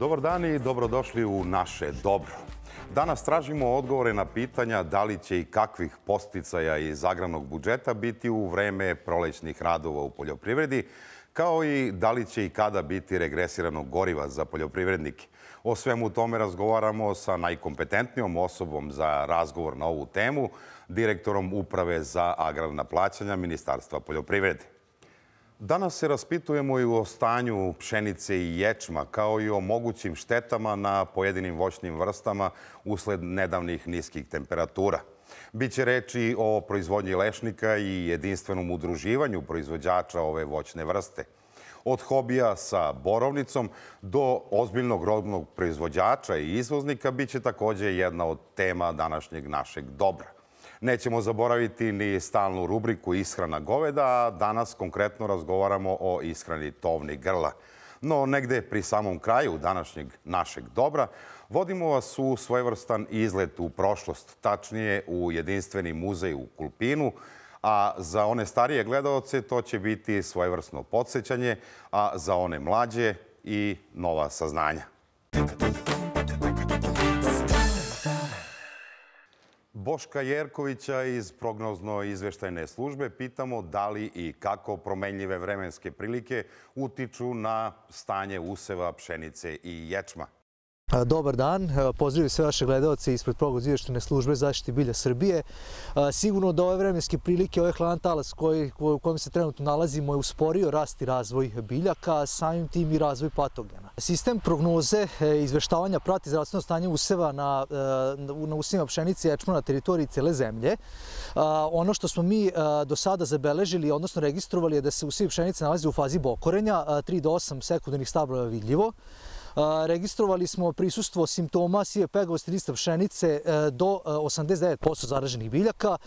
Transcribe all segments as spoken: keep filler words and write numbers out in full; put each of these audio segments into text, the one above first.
Dobar dan i dobrodošli u naše dobro. Danas tražimo odgovore na pitanja da li će i kakvih podsticaja iz agrarnog budžeta biti u vreme prolećnih radova u poljoprivredi, kao i da li će i kada biti regresiranog goriva za poljoprivrednike. O svemu tome razgovaramo sa najkompetentnijom osobom za razgovor na ovu temu, direktorom Uprave za agrarna plaćanja Ministarstva poljoprivrede. Danas se raspitujemo i o stanju pšenice i ječma, kao i o mogućim štetama na pojedinim voćnim vrstama usled nedavnih niskih temperatura. Biće reči o proizvodnji lešnika i jedinstvenom udruživanju proizvođača ove voćne vrste. Od hobija sa borovnicom do ozbiljnog robnog proizvođača i izvoznika biće također jedna od tema današnjeg našeg dobra. Nećemo zaboraviti ni stalnu rubriku ishrana goveda, a danas konkretno razgovaramo o ishrani tovnih grla. No, negde pri samom kraju današnjeg našeg dobra vodimo vas u svojevrstan izlet u prošlost, tačnije u jedinstveni muzej u Kulpinu, a za one starije gledaoce to će biti svojevrsno podsjećanje, a za one mlađe i nova saznanja. Boška Jerkovića iz prognozno-izveštajne službe pitamo da li i kako promenljive vremenske prilike utiču na stanje useva pšenice i ječma. Dobar dan, pozdravljam sve vaše gledalce ispred prognozno-izveštajne službe zaštite bilja Srbije. Sigurno da ove vremenske prilike, ovaj hladan talas u kojem se trenutno nalazimo je usporio rast i razvoj biljaka, a samim tim i razvoj patogena. Sistem prognoze izveštavanja prati zdravstveno stanje useva na, na usevima pšenice i ječma na teritoriji cele zemlje. Ono što smo mi do sada zabeležili, odnosno registrovali, je da se usevi pšenice nalazi u fazi bokorenja, tri do osam sekundarnih stabla vidljivo. Registrovali smo prisustvo simptoma sive pegavosti lista pšenice do osamdeset devet posto zaraženih biljaka,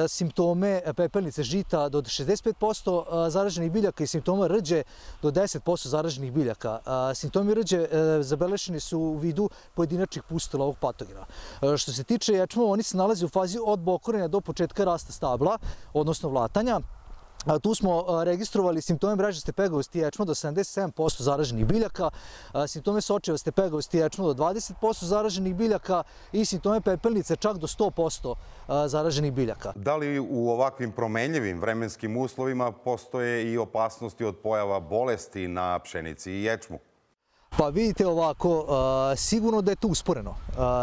simptome pepelnice žita do šezdeset pet posto zaraženih biljaka i simptoma rđe do deset posto zaraženih biljaka. Simptomi rđe zabeleženi su u vidu pojedinačnih pustula ovog patogena. Što se tiče ječma, oni se nalaze u fazi od bokorenja do početka rasta stabla, odnosno vlatanja. Tu smo registrovali simptome mrežaste pegavosti ječma do sedamdeset sedam posto zaraženih biljaka, simptome sočevaste pegavosti ječma do dvadeset posto zaraženih biljaka i simptome pepelnice čak do sto posto zaraženih biljaka. Da li u ovakvim promenljivim vremenskim uslovima postoje i opasnosti od pojava bolesti na pšenici i ječmu? Pa vidite ovako, sigurno da je to usporeno.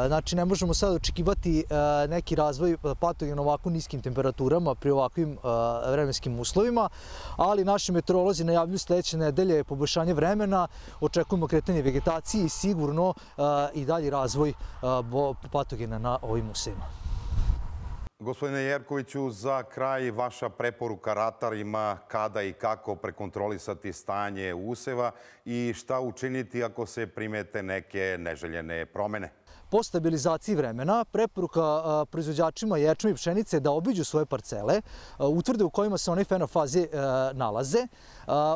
Znači ne možemo sad očekivati neki razvoj patogena ovako niskim temperaturama pri ovakvim vremenskim uslovima, ali naši meteorolozi najavljuju sljedeće nedelje poboljšanje vremena, očekujemo kretanje vegetacije i sigurno i dalji razvoj patogena na ovim usevima. Gospodine Jerkoviću, za kraj vaša preporuka ratarima kada i kako prekontrolisati stanje useva i šta učiniti ako se primete neke neželjene promene? Po stabilizaciji vremena, preporuka proizvođačima ječma i pšenice da obiđu svoje parcele, utvrde u kojima se one fenofaze nalaze,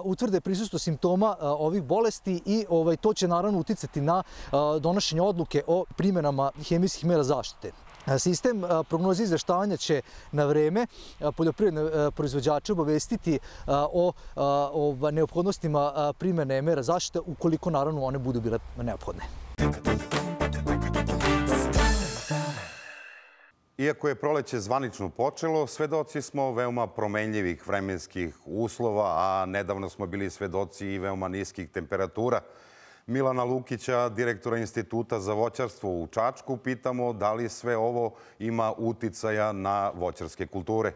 utvrde prisustvo simptoma ovih bolesti i to će naravno uticati na donošenje odluke o primjenama hemijskih mera zaštite. Sistem prognoze izveštavanja će na vreme poljoprivredne proizvođače obavestiti o neophodnostima primjene mera zaštite ukoliko naravno one budu bile neophodne. Iako je proleće zvanično počelo, svedoci smo veoma promenljivih vremenskih uslova, a nedavno smo bili svedoci i veoma niskih temperatura. Milana Lukića, direktora Instituta za voćarstvo u Čačku, pitamo da li sve ovo ima uticaja na voćarske kulture.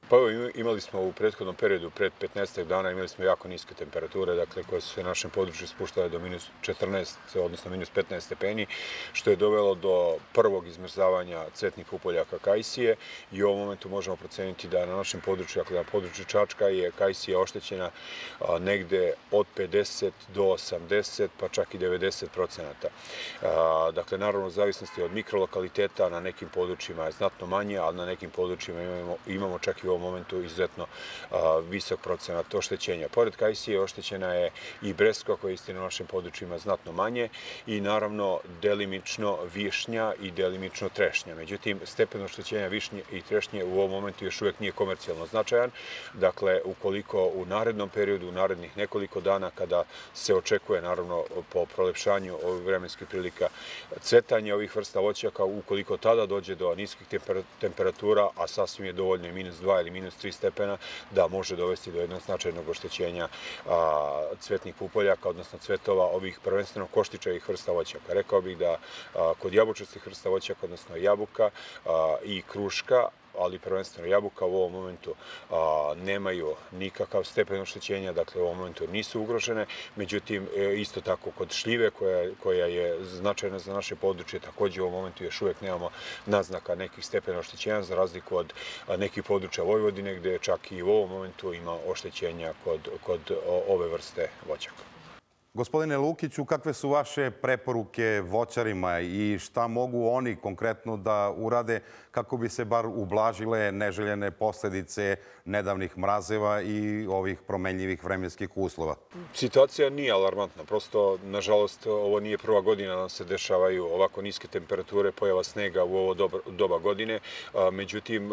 Pa evo, imali smo u prethodnom periodu, pred petnaestak dana, imali smo jako niske temperature, dakle, koje su se na našem području spuštale do minus četrnaest, odnosno minus petnaest stepeni, što je dovelo do prvog izmrzavanja cvetnih pupoljaka kajsije i u ovom momentu možemo proceniti da na našem području, dakle, na području Čačka je kajsija oštećena negde od pedeset do osamdeset, pa čak i devedeset procenata. Dakle, naravno, u zavisnosti od mikrolokaliteta, na nekim područjima je znatno manje, ali na nekim područjima imamo, imamo čak i u ovom ovom momentu izuzetno visok procenat oštećenja. Pored kajsije oštećena je i breskva koja je istina na našim područjima znatno manje i naravno delimično višnja i delimično trešnja. Međutim, stepen oštećenja višnje i trešnje u ovom momentu još uvijek nije komercijalno značajan. Dakle, ukoliko u narednom periodu, u narednih nekoliko dana, kada se očekuje naravno po prolepšanju ovih vremenskih prilika cvetanje ovih vrsta voćaka, ukoliko tada dođe do niskih temperatura, a sasvim je dovoljno i minus dva ili minus tri stepena, da može dovesti do jednog značajnog oštećenja cvetnih pupoljaka, odnosno cvetova ovih prvenstveno koštičavih vrsta voćaka. Rekao bih da kod jabučastih vrsta voćaka, odnosno jabuka i kruška, ali prvenstveno jabuka u ovom momentu nemaju nikakav stepen oštećenja, dakle u ovom momentu nisu ugrožene. Međutim, isto tako kod šljive koja je značajna za naše područje, također u ovom momentu još uvijek nemamo naznaka nekih stepena oštećenja, za razliku od nekih područja Vojvodine, gdje čak i u ovom momentu ima oštećenja kod ove vrste voćaka. Gospodine Lukiću, kakve su vaše preporuke voćarima i šta mogu oni konkretno da urade kako bi se bar ublažile neželjene posljedice nedavnih mrazeva i ovih promenljivih vremenskih uslova? Situacija nije alarmantna. Prosto, nažalost, ovo nije prva godina da se dešavaju ovako niske temperature, pojava snega u ovo doba godine. Međutim,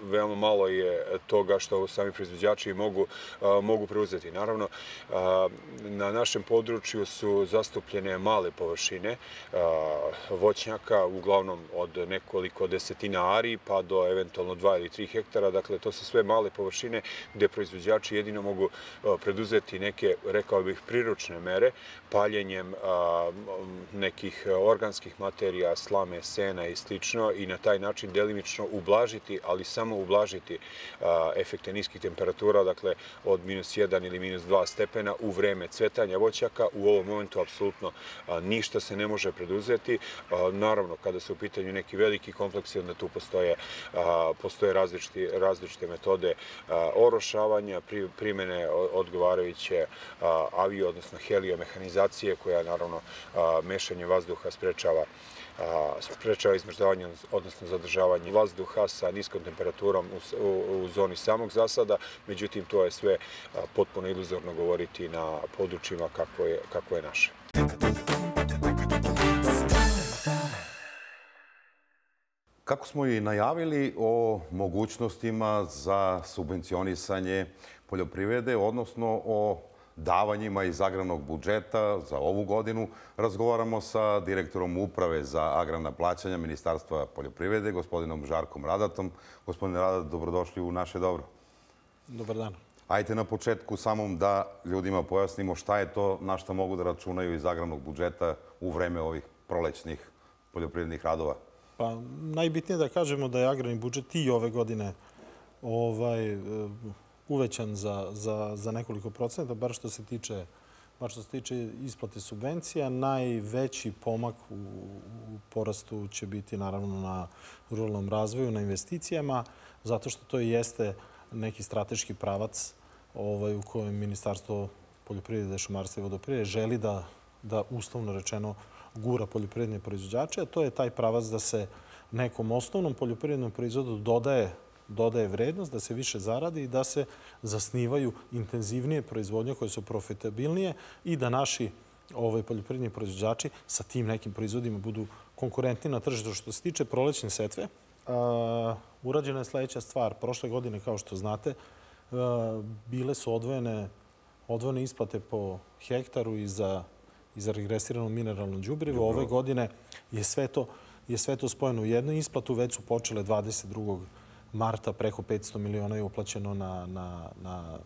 veoma malo je toga što sami proizvođači mogu preuzeti. Naravno, na našem području su zastupljene male površine voćnjaka, uglavnom od nekoliko desetina ari pa do eventualno dva ili tri hektara. Dakle, to su sve male površine gdje proizvođači jedino mogu preduzeti neke, rekao bih, priručne mere, paljenjem nekih organskih materija, slame, sena i slično, i na taj način delimično ublažiti, ali samo ublažiti efekte niskih temperatura, dakle od minus jedan ili minus dva stepena u vreme cvetanja voćaka. U ovom momentu apsolutno ništa se ne može preduzeti. Naravno, kada su u pitanju neki veliki kompleksi, onda tu postoje različite metode orošavanja, primjene odgovarajuće avio, odnosno heliomehanizacije, koja naravno mešanje vazduha sprečava sprečava izmrzavanje, odnosno zadržavanje vazduha sa niskom temperaturom u zoni samog zasada. Međutim, to je sve potpuno iluzorno govoriti na područjima kako je naše. Kako smo i najavili o mogućnostima za subvencionisanje poljoprivrede, odnosno o davanjima iz agrarnog budžeta za ovu godinu, razgovaramo sa direktorom Uprave za agrarna plaćanja Ministarstva poljoprivrede, gospodinom Žarkom Radatom. Gospodine Radat, dobrodošli u Naše dobro. Dobar dan. Ajte na početku samom da ljudima pojasnimo šta je to na što mogu da računaju iz agrarnog budžeta u vreme ovih prolećnih poljoprivrednih radova. Pa najbitnije da kažemo da je agrarni budžet i ove godine uvećan za nekoliko procenta, bar što se tiče bar što se tiče isplate subvencija. Najveći pomak u porastu će biti naravno na ruralnom razvoju, na investicijama, zato što to jeste neki strateški pravac u kojem Ministarstvo poljoprivrede, šumarstva i vodoprivrede želi da uslovno rečeno gura poljoprivredne proizvođače, a to je taj pravac da se nekom osnovnom poljoprivrednom proizvodu dodaje dodaje vrednost, da se više zaradi i da se zasnivaju intenzivnije proizvodnje koje su profitabilnije i da naši poljoprivredni proizvođači sa tim nekim proizvodima budu konkurentni na tržištu. Što se tiče prolećne setve, urađena je sljedeća stvar. Prošle godine, kao što znate, bile su odvojene isplate po hektaru i za regresirano mineralno đubrivo. Ove godine je sve to spojeno u jednu isplatu. Već su počele dvadeset drugog marta, preko petsto miliona je uplaćeno na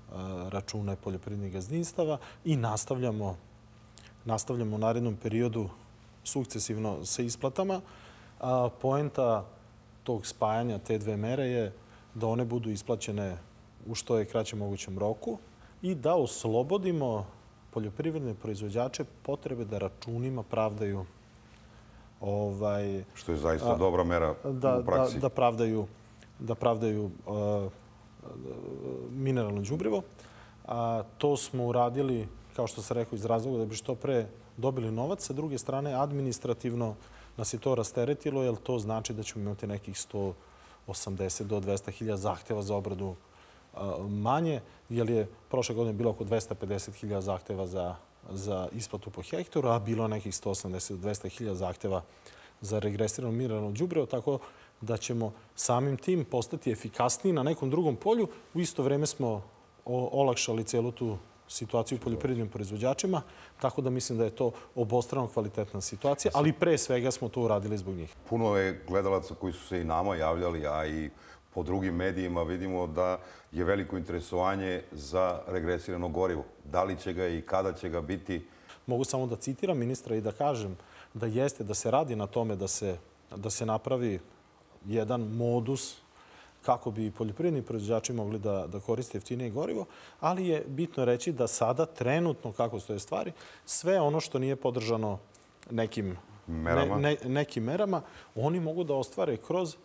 račune poljoprivrednih gazdinstava i nastavljamo u narednom periodu sukcesivno sa isplatama. Poenta tog spajanja te dve mere je da one budu isplaćene u što je kraćem mogućem roku i da oslobodimo poljoprivredne proizvođače potrebe da računima pravdaju što je zaista dobra mera u praksi. Da pravdaju mineralno đubrivo. To smo uradili, kao što sam rekao, iz razloga da bi što pre dobili novac. Sa druge strane, administrativno nas je to rasteretilo, jer to znači da ćemo imati nekih sto osamdeset do dvesta hiljada zahteva za obradu manje, jer je prošle godine bilo oko dvesta pedeset hiljada zahteva za, za isplatu po hektaru, a bilo nekih sto osamdeset do dvesta hiljada zahteva za regresirano mineralno đubrivo, tako da ćemo samim tim postati efikasniji na nekom drugom polju. U isto vreme smo olakšali celu tu situaciju poljoprivrednim proizvođačima, tako da mislim da je to obostrano kvalitetna situacija, ali pre svega smo to uradili zbog njih. Puno je gledalaca koji su se i nama javljali, a i po drugim medijima vidimo da je veliko interesovanje za regresirano gorivo. Da li će ga i kada će ga biti? Mogu samo da citiram ministra i da kažem da jeste, da se radi na tome da se, da se napravi jedan modus kako bi poljoprivredni proizvođači mogli da, da koriste jeftinije gorivo, ali je bitno reći da sada trenutno, kako stoje stvari, sve ono što nije podržano nekim merama, ne, ne, nekim merama oni mogu da ostvare kroz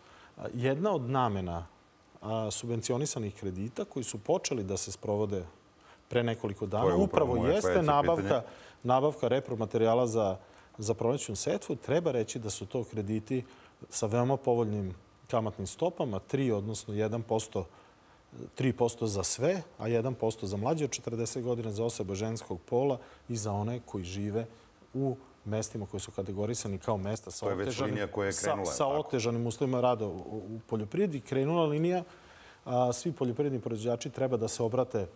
jedna od namena a, subvencionisanih kredita koji su počeli da se sprovode pre nekoliko dana. Upravo, upravo jeste nabavka, nabavka repromaterijala za, za prolećnu setvu. Treba reći da su to krediti sa veoma povoljnim kamatnim stopama, tri, odnosno jedan posto, tri posto za sve, a jedan posto za mlađe od četrdeset godina, za osobe ženskog pola i za one koji žive u mestima koji su kategorisani kao mesta sa, otežanim, koja je krenula, sa, sa otežanim uslovima rada u, u poljoprivredi. Krenula linija, a, svi poljoprivredni proizvođači treba da se obrate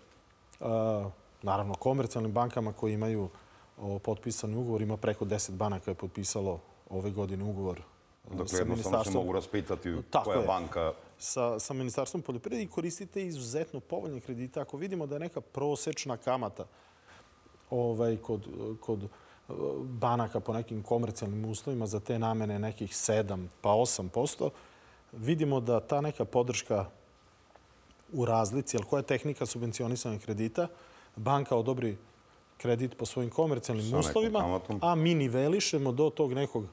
a, naravno komercijalnim bankama koji imaju o, potpisani ugovor. Ima preko deset banaka je potpisalo ove godine ugovor. Dakle, jednostavno se mogu raspitati koja banka... Sa, sa Ministarstvom poljoprivrede i koristite izuzetno povoljne kredite. Ako vidimo da je neka prosečna kamata ovaj, kod, kod banaka po nekim komercijalnim uslovima za te namene nekih sedam pa osam posto, vidimo da ta neka podrška u razlici, jer koja je tehnika subvencionisanih kredita, banka odobri kredit po svojim komercijalnim uslovima, a mi nivelišemo do tog nekog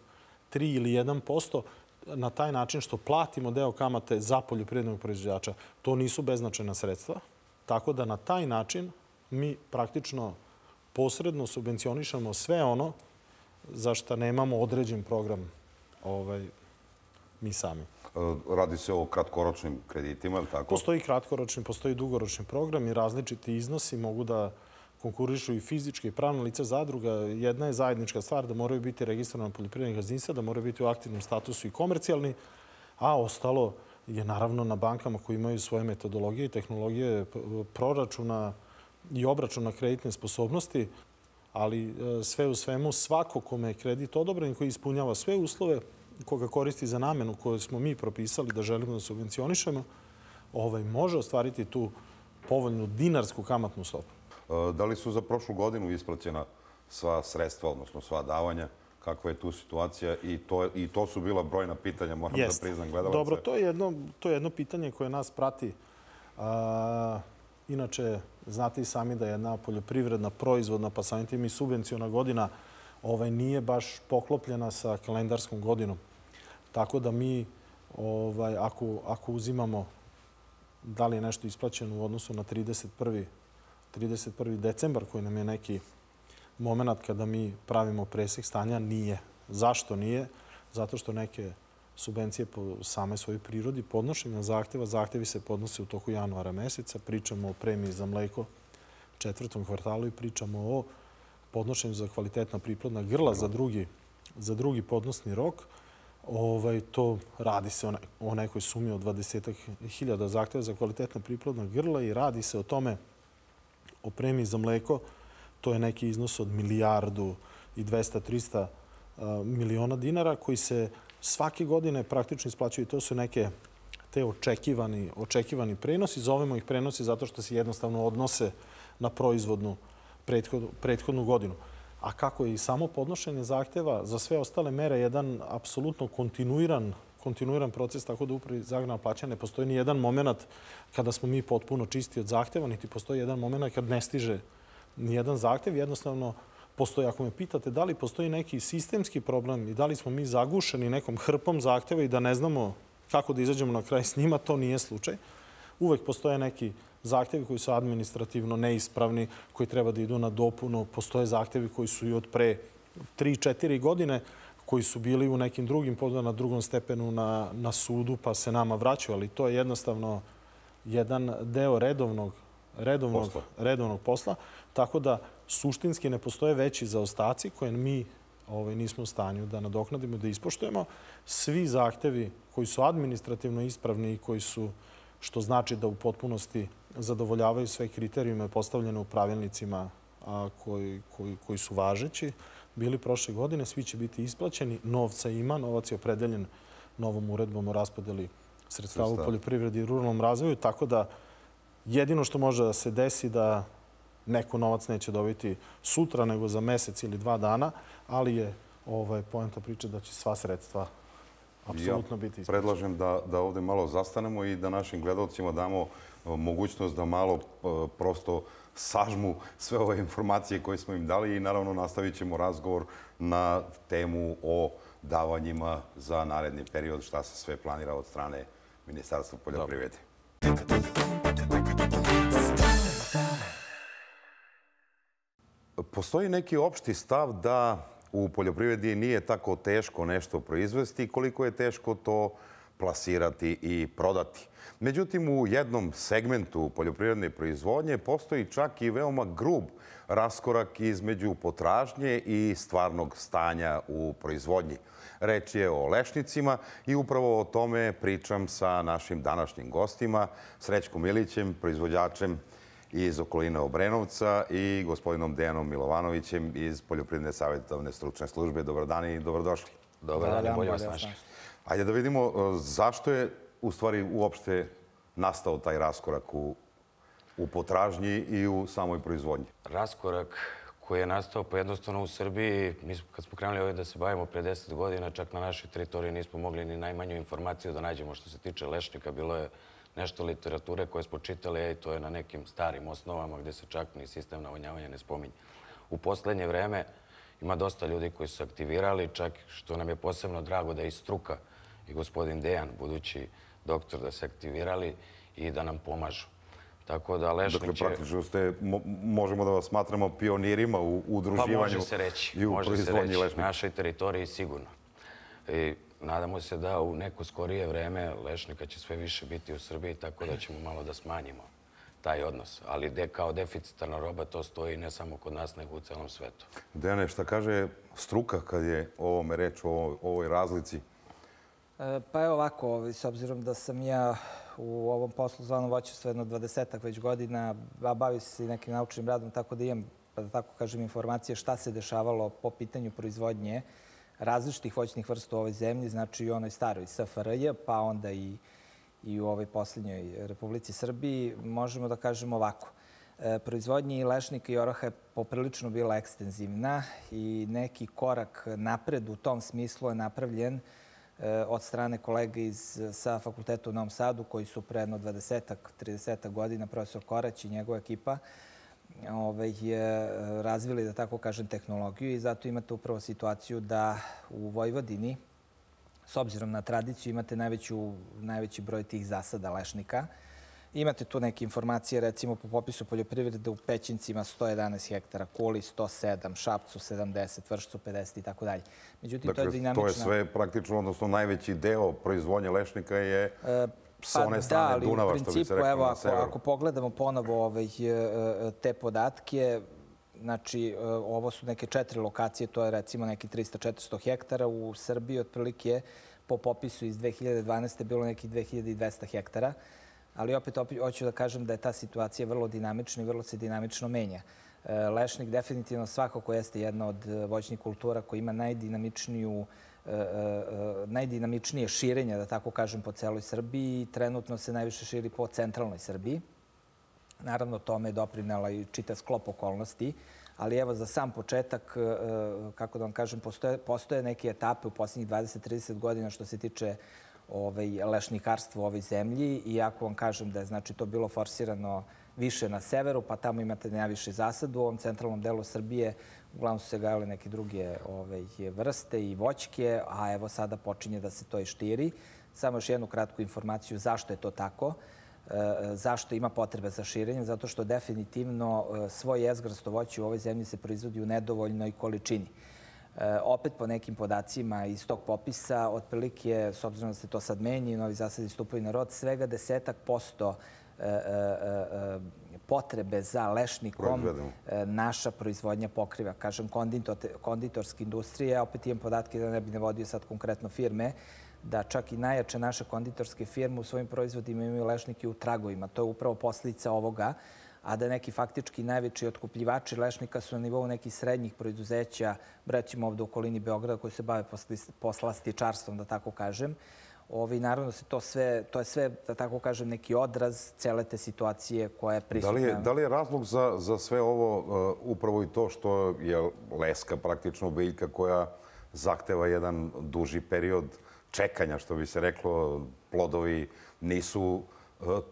tri ili jedan posto na taj način što platimo deo kamate za poljoprivrednog proizvođača. To nisu beznačajna sredstva, tako da na taj način mi praktično posredno subvencionišemo sve ono za što nemamo određen program ovaj, mi sami. Radi se o kratkoročnim kreditima, ili tako? Postoji kratkoročni, postoji dugoročni program i različiti iznosi mogu da konkurišu i fizičke i pravne lice zadruga. Jedna je zajednička stvar da moraju biti registrovana poljoprivredna gazdinstva, da moraju biti u aktivnom statusu i komercijalni, a ostalo je naravno na bankama koji imaju svoje metodologije i tehnologije proračuna i obračuna kreditne sposobnosti, ali sve u svemu svako kome je kredit odobren, koji ispunjava sve uslove, koga koristi za namenu koju smo mi propisali da želimo da subvencionišemo, ovaj, može ostvariti tu povoljnu dinarsku kamatnu stopu. Da li su za prošlu godinu isplaćena sva sredstva, odnosno sva davanja? Kakva je tu situacija? I to, i to su bila brojna pitanja, moram Jest. da priznam gledalaca. Dobro, to je jedno, to je jedno pitanje koje nas prati. A, inače, znate i sami da je jedna poljoprivredna, proizvodna, pa samim tim i subvenciona godina ovaj, nije baš poklopljena sa kalendarskom godinom. Tako da mi, ovaj, ako, ako uzimamo da li je nešto isplaćeno u odnosu na trideset prvi decembar, koji nam je neki moment kada mi pravimo presek stanja, nije. Zašto nije? Zato što neke subvencije po same svojoj prirodi podnošenja zahteva, zahtevi se podnose u toku januara meseca, pričamo o premiji za mleko četvrtom kvartalu i pričamo o podnošenju za kvalitetna priplodna grla za drugi, za drugi podnosni rok. Ovaj, to radi se o, ne, o nekoj sumi od dvadeset hiljada zahteva za kvalitetna priplodna grla i radi se o tome, o premiji za mleko. To je neki iznos od milijardu i dvesta do trista miliona dinara koji se svake godine praktično isplaćuju. To su neke te očekivani, očekivani prenosi. Zovemo ih prenosi zato što se jednostavno odnose na proizvodnu prethodnu, prethodnu godinu. A kako je i samo podnošenje zahteva za sve ostale mere jedan apsolutno kontinuiran, kontinuiran proces, tako da upravi za agrarna plaćanja ne postoji ni jedan moment kada smo mi potpuno čisti od zahteva, niti postoji jedan moment kad ne stiže ni jedan zahtev. Jednostavno postoji, ako me pitate da li postoji neki sistemski problem i da li smo mi zagušeni nekom hrpom zahteva i da ne znamo kako da izađemo na kraj s njima, to nije slučaj. Uvek postoje neki zahtevi koji su administrativno neispravni, koji treba da idu na dopunu. Postoje zahtevi koji su i od pre tri četiri godine koji su bili u nekim drugim, na drugom stepenu na, na sudu, pa se nama vraćaju. Ali to je jednostavno jedan deo redovnog, redovnog, posla. redovnog posla. Tako da suštinski ne postoje veći zaostaci koje mi ovaj, nismo u stanju da nadoknadimo, da ispoštujemo. Svi zahtevi koji su administrativno ispravni i koji su, što znači da u potpunosti zadovoljavaju sve kriterijume postavljene u pravilnicima a, koji, koji, koji su važeći, bili prošle godine, svi će biti isplaćeni. Novca ima, novac je opredeljen novom uredbom o raspodeli sredstava u poljoprivredi i ruralnom razvoju, tako da jedino što može da se desi da neko novac neće dobiti sutra, nego za mesec ili dva dana, ali je ovaj, poenta priče da će sva sredstva apsolutno biti isplaćena. Predlažem da, da ovde malo zastanemo i da našim gledalcima damo mogućnost da malo prosto sažmu sve ove informacije koje smo im dali i naravno nastavit ćemo razgovor na temu o davanjima za naredni period, šta se sve planira od strane Ministarstva poljoprivrede. Postoji neki opšti stav da u poljoprivredi nije tako teško nešto proizvesti koliko je teško to plasirati i prodati. Međutim, u jednom segmentu poljoprivredne proizvodnje postoji čak i veoma grub raskorak između potražnje i stvarnog stanja u proizvodnji. Reč je o lešnicima i upravo o tome pričam sa našim današnjim gostima, Srećkom Ilićem, proizvođačem iz okoline Obrenovca i gospodinom Dejanom Milovanovićem iz Poljoprivredne savjetodavne stručne službe. Dobar dan i dobrodošli. Dobar dan, bolje vas našli. Ajde da vidimo zašto je u stvari uopšte nastao taj raskorak u, u potražnji i u samoj proizvodnji. Raskorak koji je nastao pa jednostavno u Srbiji, mi smo, kad smo krenuli ovdje da se bavimo pre deset godina, čak na našoj teritoriji nismo mogli ni najmanju informaciju da nađemo što se tiče lešnika. Bilo je nešto literature koje smo čitali, i to je na nekim starim osnovama gdje se čak ni sistem navodnjavanja ne spominje. U poslednje vreme ima dosta ljudi koji su aktivirali, čak što nam je posebno drago da je i struka i gospodin Dejan, budući doktor, da se aktivirali i da nam pomažu. Tako da lešnik će... Dakle, praktično ste, možemo da vas smatramo pionirima u udruživanju pa može se reći, i u može se proizvodnji reći, lešnika. našoj teritoriji sigurno. I nadamo se da u neko skorije vreme lešnika će sve više biti u Srbiji, tako da ćemo malo da smanjimo taj odnos. Ali de, kao deficitarna roba to stoji ne samo kod nas, nego u celom svetu. Dejane, šta kaže struka kad je o ovome reč, o ovoj, ovoj razlici? Pa evo ovako, s obzirom da sam ja u ovom poslu zvanom voćarstvo jedno dvadesetak već godina, a bavim se i nekim naučnim radom, tako da imam, pa da tako kažem, informacije šta se dešavalo po pitanju proizvodnje različitih voćnih vrsta u ovoj zemlji, znači i u onoj staroj S F R J, pa onda i, i u ovoj posljednjoj Republici Srbiji, možemo da kažemo ovako. Proizvodnja lešnika i oraha je poprilično bila ekstenzivna i neki korak napred u tom smislu je napravljen od strane kolega iz, sa fakulteta u Novom Sadu, koji su pre jedno dvadesetak, tridesetak godina, profesor Korać i njegova ekipa, ovaj, je razvili, da tako kažem, tehnologiju i zato imate upravo situaciju da u Vojvodini, s obzirom na tradiciju, imate najveću, najveći broj tih zasada lešnika. Imate tu neke informacije, recimo po popisu poljoprivrede u Pećincima sto jedanaest hektara, Kuli sto sedam, Šapcu sedamdeset, Vršcu pedeset i tako dalje. Međutim, to je dinamična... To je sve praktično, odnosno najveći deo proizvodnje lešnika je sa one strane Dunava, što bi se rekao na severu. Ako pogledamo ponovo te podatke, znači ovo su neke četiri lokacije, to je recimo neki trista do četiristo hektara. U Srbiji otprilike po popisu iz dve hiljade dvanaeste. bilo neki dve hiljade dvesta hektara. Ali opet hoću da kažem da je ta situacija vrlo dinamična i vrlo se dinamično menja. Lešnik definitivno svakako jeste jedna od voćnih kultura koja ima najdinamičniju, najdinamičnije širenje, da tako kažem, po celoj Srbiji i trenutno se najviše širi po centralnoj Srbiji. Naravno, tome je doprinela i čitav sklop okolnosti, ali evo za sam početak, kako da vam kažem, postoje, postoje neke etape u posljednjih dvadeset do trideset godina što se tiče ovaj, lešnikarstva u ovoj zemlji. I ako vam kažem da je znači, to bilo forsirano više na severu, pa tamo imate najviše zasad, u ovom centralnom delu Srbije uglavnom su se gajale neke druge ovaj, vrste i voćke, a evo sada počinje da se to i štiri. Samo još jednu kratku informaciju zašto je to tako. Zašto ima potrebe za širenjem? Zato što definitivno svoj jezgrasto voće u ovoj zemlji se proizvodi u nedovoljnoj količini. Opet po nekim podacima iz tog popisa, otprilike, s obzirom da se to sad menji, novi zasadi stupaju na rod, svega desetak posto potrebe za lešnikom naša proizvodnja pokriva. Kažem, konditorska industrija, opet imam podatke da ne bi ne vodio sad konkretno firme, da čak i najjače naše konditorske firme u svojim proizvodima imaju lešnike u tragovima. To je upravo posljedica ovoga, a da neki faktički najveći otkupljivači lešnika su na nivou nekih srednjih preduzeća, recimo ovdje u okolini Beograda, koji se bave poslastičarstvom, da tako kažem. Ovi, naravno, to, sve, to je sve, da tako kažem, neki odraz cele te situacije koja je prisutna. Da li je, da li je razlog za, za sve ovo uh, upravo i to što je leska praktično biljka koja zahteva jedan duži period čekanja, što bi se reklo, plodovi nisu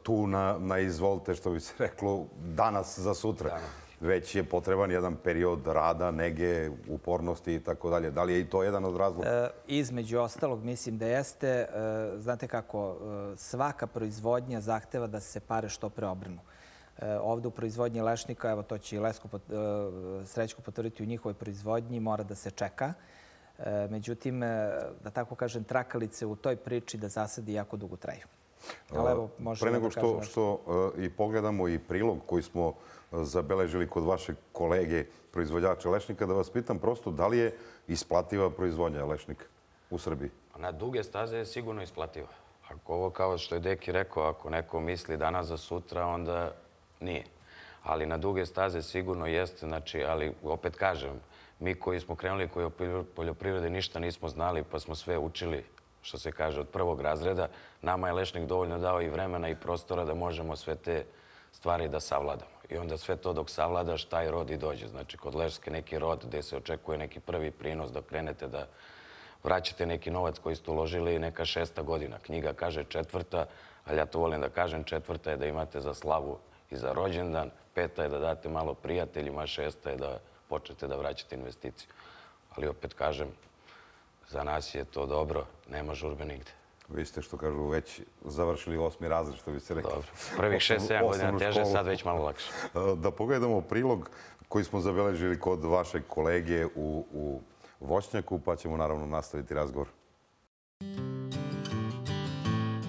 tu na, na izvolte, što bi se reklo, danas za sutra. Da. Već je potreban jedan period rada, nege, upornosti i tako dalje. Da li je i to jedan od razloga? E, između ostalog, mislim da jeste. E, znate kako, e, svaka proizvodnja zahteva da se pare što pre obrnu. E, ovdje u proizvodnji lešnika, evo to će i Lesko, e, Srećko potvrditi u njihovoj proizvodnji, mora da se čeka. E, međutim, e, da tako kažem, trakalice u toj priči da zasadi jako dugo traju. Evo, pre nego što, što uh, i pogledamo i prilog koji smo uh, zabeležili kod vašeg kolege proizvođača lešnika, da vas pitam prosto da li je isplativa proizvodnja lešnika u Srbiji? Na duge staze je sigurno isplativa. Ako ovo, kao što je Deki rekao, ako neko misli danas za sutra, onda nije. Ali na duge staze sigurno jeste, znači, ali opet kažem, mi koji smo krenuli, koji o poljoprivredi ništa nismo znali, pa smo sve učili, što se kaže, od prvog razreda, nama je lešnik dovoljno dao i vremena i prostora da možemo sve te stvari da savladamo. I onda sve to dok savladaš, taj rod i dođe. Znači, kod leške neki rod gde se očekuje neki prvi prinos da krenete da vraćate neki novac koji ste uložili, neka šesta godina. Knjiga kaže četvrta, ali ja to volim da kažem, četvrta je da imate za slavu i za rođendan, peta je da date malo prijateljima, šesta je da počnete da vraćate investiciju. Ali opet kažem, za nas je to dobro, nema žurbe nigde. Vi ste, što kažu, već završili osmi razred, što bi se rekli. Dobro. Prvih šest sedam godina teže, sad već malo lakše. Da pogledamo prilog koji smo zabeležili kod vašeg kolege u, u voćnjaku, pa ćemo naravno nastaviti razgovor.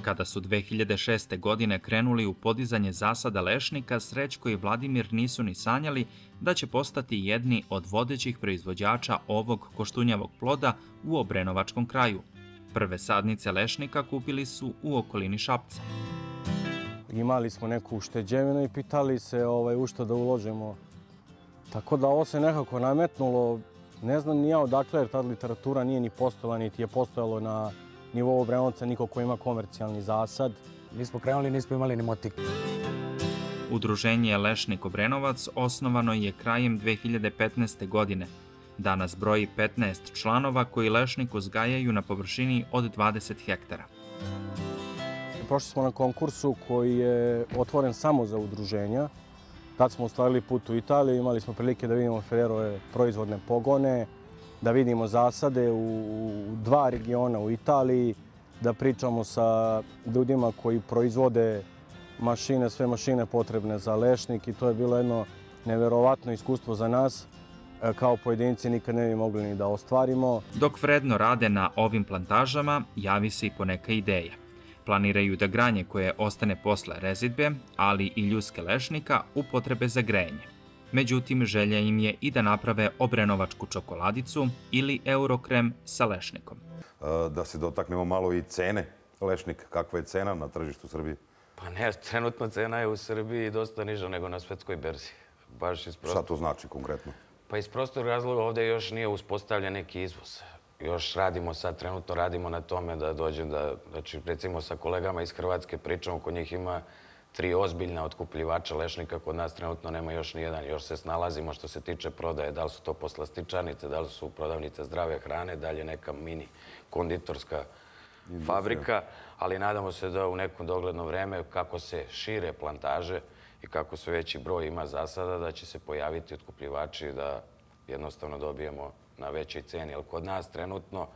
Kada su dve hiljade šeste. godine krenuli u podizanje zasada lešnika, Srećko i Vladimir nisu ni sanjali da će postati jedni od vodećih proizvođača ovog koštunjavog ploda u Obrenovačkom kraju. Prve sadnice lešnika kupili su u okolini Šapca. Imali smo neku ušteđevinu i pitali se ovaj, u što da uložimo. Tako da ovo se nekako nametnulo. Ne znam ni ja odakle, jer ta literatura nije ni postojala, niti je postojalo na nivou Obrenovca niko ko ima komercijalni zasad. Mi smo krenuli, nismo imali ni motik. Udruženje Lešnik Obrenovac osnovano je krajem dve hiljade petnaeste. godine. Danas broji petnaest članova koji lešnik uzgajaju na površini od dvadeset hektara. Prošli smo na konkursu koji je otvoren samo za udruženja. Tad smo ostvarili put u Italiju, imali smo prilike da vidimo Ferrerove proizvodne pogone, da vidimo zasade u dva regiona u Italiji, da pričamo sa ljudima koji proizvode mašine, sve mašine potrebne za lešnik i to je bilo jedno neverovatno iskustvo za nas. Kao pojedinci nikad ne bi mogli ni da ostvarimo. Dok vredno rade na ovim plantažama, javi se i poneka ideja. Planiraju da granje koje ostane posle rezidbe, ali i ljuske lešnika, upotrebe za grejanje. Međutim, želja im je i da naprave obrenovačku čokoladicu ili eurokrem sa lešnikom. Da se dotaknemo malo i cene lešnika. Kakva je cena na tržištu Srbije? Pa ne, trenutno cena je u Srbiji dosta niža nego na svetskoj berzi. Baš iz Šta to znači konkretno? Pa iz prostornog razloga ovdje još nije uspostavljen neki izvoz. Još radimo sad, trenutno radimo na tome da dođe da, znači recimo sa kolegama iz Hrvatske pričamo, kod njih ima tri ozbiljna otkupljivača lešnika, kod nas trenutno nema još ni jedan. Još se snalazimo što se tiče prodaje, da li su to poslastičarnice, da li su prodavnice zdrave hrane, da li je neka mini konditorska fabrika, ali nadamo se da u nekom dogledno vreme, kako se šire plantaže i kako se veći broj ima zasada, da će se pojaviti otkupljivači da jednostavno dobijemo na većoj ceni. Jer kod nas trenutno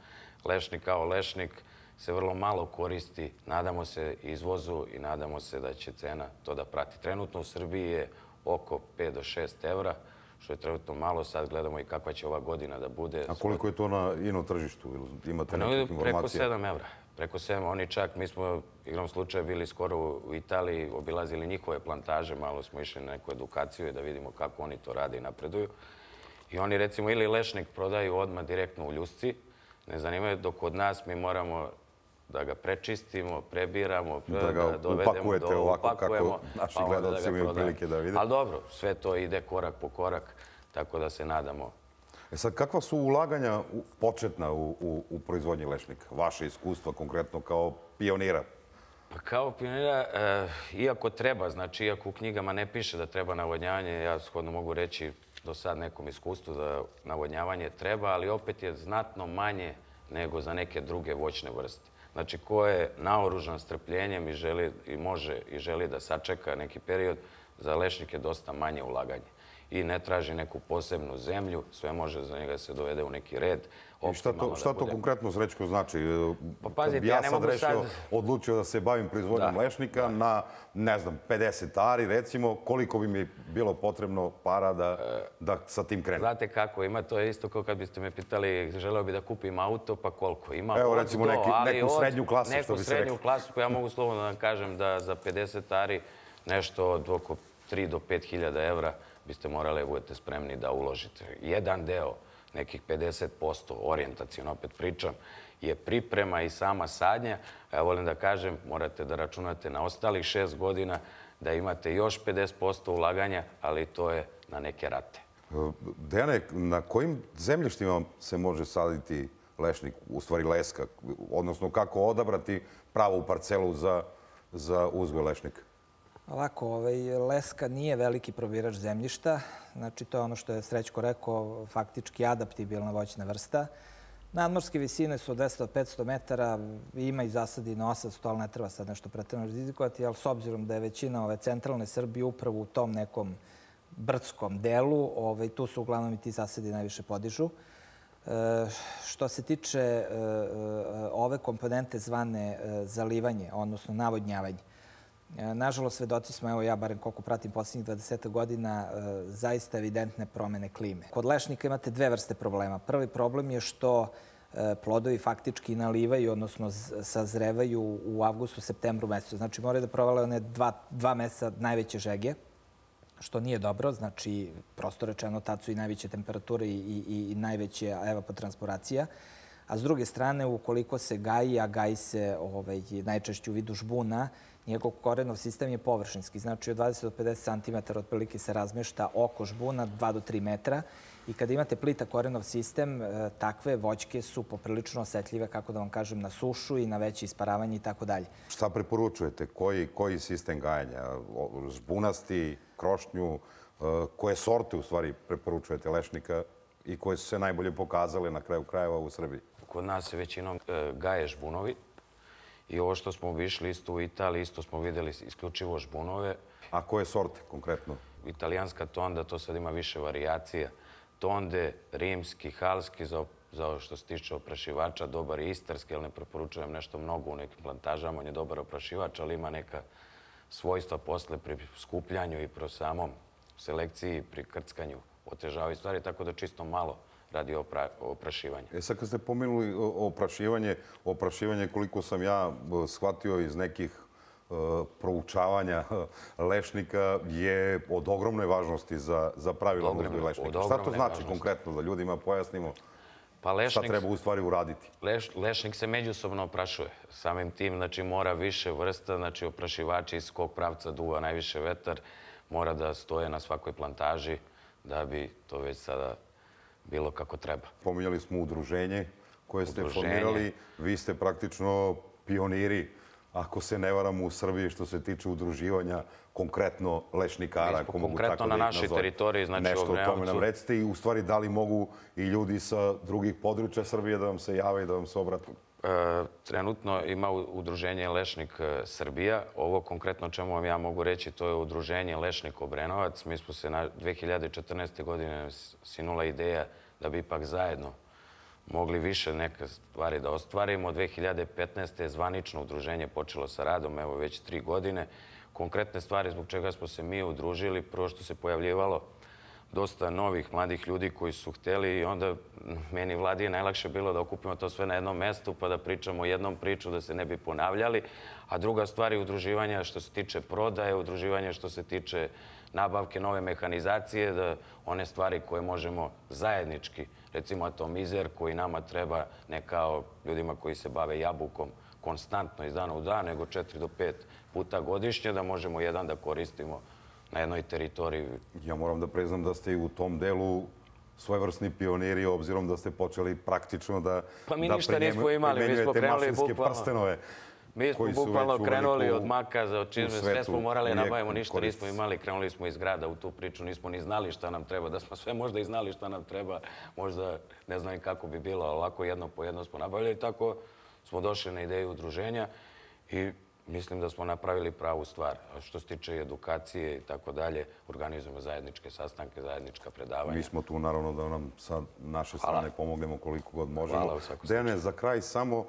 lešnik kao lešnik se vrlo malo koristi. Nadamo se izvozu i nadamo se da će cena to da prati. Trenutno u Srbiji je oko pet do šest evra, što je trenutno malo. Sad gledamo i kakva će ova godina da bude. A koliko je to na ino tržištu? Imate nekakve informacije? Preko sedam evra. Preko sedam. Oni čak, mi smo igrom slučaja bili skoro u Italiji, obilazili njihove plantaže, malo smo išli na neku edukaciju i da vidimo kako oni to rade i napreduju. I oni recimo ili lešnik prodaju odmah direktno u ljusci, ne zanimaju, dok kod nas mi moramo da ga prečistimo, prebiramo, da ga upakujete ovako kako naši gledalci imaju prilike da vide. Ali dobro, sve to ide korak po korak, tako da se nadamo. E sad, kakva su ulaganja početna u proizvodnji lešnika? Vaše iskustva konkretno kao pionira? Pa kao pionira, iako treba, znači iako u knjigama ne piše da treba navodnjavanje, ja shodno mogu reći do sad nekom iskustvu da navodnjavanje treba, ali opet je znatno manje nego za neke druge voćne vrste. Znači, ko je naoružan strpljenjem i želi, i može i želi da sačeka neki period, za lešnik je dosta manje ulaganje. I ne traži neku posebnu zemlju, sve može za njega se dovede u neki red. I šta to konkretno, Srećko, znači? Kad bi ja sad rešio, odlučio da se bavim proizvodnjom lešnika na, ne znam, pedeset ari, recimo, koliko bi mi bilo potrebno para da sa tim krenem? Znate kako, ima to isto kao kad biste me pitali, želeo bi da kupim auto, pa koliko? Evo, recimo, neku srednju klasu, što bi se rekao. Neku srednju klasu, koja ja mogu slobodno da kažem da za pedeset ari nešto od oko tri do pet hiljada evra biste morali da budete spremni da uložite. Jedan deo, nekih pedeset posto, orijentacijono opet pričam, je priprema i sama sadnja. Ja volim da kažem, morate da računate na ostalih šest godina, da imate još pedeset posto ulaganja, ali to je na neke rate. Dejane, na kojim zemljištima se može saditi lešnik, u stvari leska, odnosno kako odabrati pravu parcelu za uzgoj lešnika? Ovako, leska nije veliki probirač zemljišta. Znači, to je ono što je Srećko rekao, faktički adaptibilna voćna vrsta. Nadmorske visine su od dvesta do petsto metara, ima i zasadi na osamsto, ali ne treba sad nešto preterano rizikovati, ali s obzirom da je većina ove centralne Srbije upravo u tom nekom brdskom delu, tu su uglavnom i ti zasadi najviše podižu. Što se tiče ove komponente zvane zalivanje, odnosno navodnjavanje, nažalost, svedoci smo, evo ja barem koliko pratim posljednjih dvadeset godina, zaista evidentne promene klime. Kod lešnika imate dve vrste problema. Prvi problem je što plodovi faktički nalivaju, odnosno sazrevaju u avgustu, septembru mesecu. Znači, moraju da provale one dva meseca najveće žege, što nije dobro. Znači, prosto rečeno, tad su i najveće temperature i najveća evapotranspiracija. A s druge strane, ukoliko se gaji, a gaji se najčešće u vidu žbuna, njegov korenov sistem je površinski. Znači, od dvadeset do pedeset centimetara otprilike se razmešta oko žbuna, dva do tri metra. I kada imate plitak korenov sistem, takve voćke su poprilično osetljive, kako da vam kažem, na sušu i na veće isparavanje i tako dalje. Šta preporučujete? Koji sistem gajanja? Žbunasti, krošnju? Koje sorte, u stvari, preporučujete lešnika i koje su se najbolje pokazale na kraju krajeva u Srbiji? Kod nas se većinom gaje žbunovi. I ovo što smo obišli isto u Italiji, isto smo videli isključivo žbunove. A koje sorte konkretno? Italijanska tonda, to sad ima više varijacija. Tonde, rimski, halski, za ovo što se tiče oprašivača, dobar i istarski, ali ne preporučujem nešto mnogo u nekim plantažama. On je dobar oprašivač, ali ima neka svojstva posle pri skupljanju i pro samom selekciji, pri krckanju otežavaju stvari, tako da čisto malo radi oprašivanje. E sad kad ste pomenuli oprašivanje, oprašivanje koliko sam ja shvatio iz nekih proučavanja lešnika je od ogromne važnosti za pravilan uzgoj lešnika. Šta to znači konkretno da ljudima pojasnimo šta treba u stvari uraditi? Lešnik se međusobno oprašuje. Samim tim znači mora više vrsta, znači oprašivači iz kog pravca duva najviše vetar, mora da stoje na svakoj plantaži da bi to već sada bilo kako treba. Pominjali smo udruženje koje ste formirali. Vi ste praktično pioniri, ako se ne varam, u Srbiji što se tiče udruživanja konkretno lešnikara. Mi smo konkretno na našoj teritoriji, znači u Obrenovcu. Nešto o tome nam recite i u stvari da li mogu i ljudi sa drugih područja Srbije da vam se jave i da vam se obrate? Trenutno ima udruženje Lešnik Srbija. Ovo konkretno čemu vam ja mogu reći, to je udruženje Lešnik Obrenovac. Mi smo se na dve hiljade četrnaeste. godine sinula ideja da bi ipak zajedno mogli više neke stvari da ostvarimo. dve hiljade petnaeste. je zvanično udruženje počelo sa radom, evo već tri godine. Konkretne stvari zbog čega smo se mi udružili, prvo što se pojavljivalo dosta novih, mladih ljudi koji su hteli i onda meni vladi je najlakše bilo da okupimo to sve na jednom mestu pa da pričamo jednom priču, da se ne bi ponavljali. A druga stvar je udruživanja što se tiče prodaje, udruživanja što se tiče nabavke nove mehanizacije, da one stvari koje možemo zajednički, recimo atomizer koji nama treba ne kao ljudima koji se bave jabukom konstantno iz dana u dan, nego četiri do pet puta godišnje, da možemo jedan da koristimo na jednoj teritoriji. Ja moram da priznam da ste i u tom delu svojevrsni pioniri, obzirom da ste počeli praktično da Pa mi ništa nismo imali, mi smo krenuli bukvalno. Mi smo bukvalno krenuli od maka za čizme, sve smo morali nabavimo, ništa nismo imali, krenuli smo iz grada u tu priču, nismo ni znali šta nam treba, da smo sve možda i znali šta nam treba, možda ne znam i kako bi bilo, ali ovako jedno po jedno smo nabavili, tako smo došli na ideju udruženja i mislim da smo napravili pravu stvar. Što se tiče edukacije i tako dalje, organizujemo zajedničke sastanke, zajednička predavanja. Mi smo tu naravno da nam sa naše strane pomognemo koliko god možemo. Hvala u svakom Dejane, za kraj samo,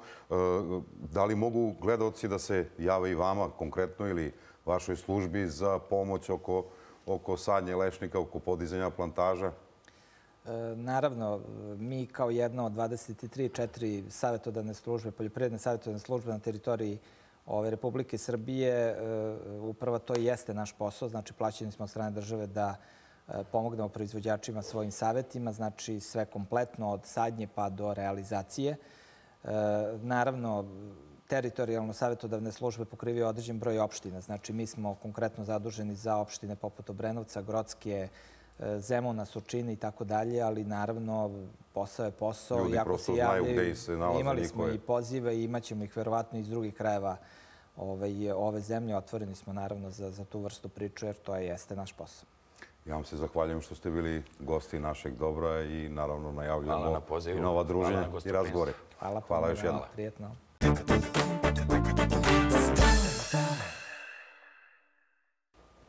da li mogu gledaoci da se jave i vama konkretno ili vašoj službi za pomoć oko, oko sadnje lešnika, oko podizanja plantaža? Naravno, mi kao jedna od dvadeset tri četiri savjetodavne službe, poljoprivredne savjetodavne službe na teritoriji ove Republike Srbije, upravo to i jeste naš posao. Znači, plaćeni smo od strane države da pomognemo proizvođačima svojim savjetima, znači sve kompletno od sadnje pa do realizacije. Naravno, teritorijalno savjetodavne službe pokrivaju određen broj opština. Znači, mi smo konkretno zaduženi za opštine poput Obrenovca, Grocke, Zemuna, Surčina i tako dalje, ali naravno posao je posao. Ljudi prosto znaju gde se nalaze. Imali smo i pozive i imat ćemo ih verovatno iz drugih krajeva ove zemlje. Otvoreni smo naravno za tu vrstu priču jer to jeste naš posao. Ja vam se zahvaljujem što ste bili gosti našeg dobra i naravno najavljamo i nova druženja i razgovore. Hvala. Hvala još jednom. Prijetno.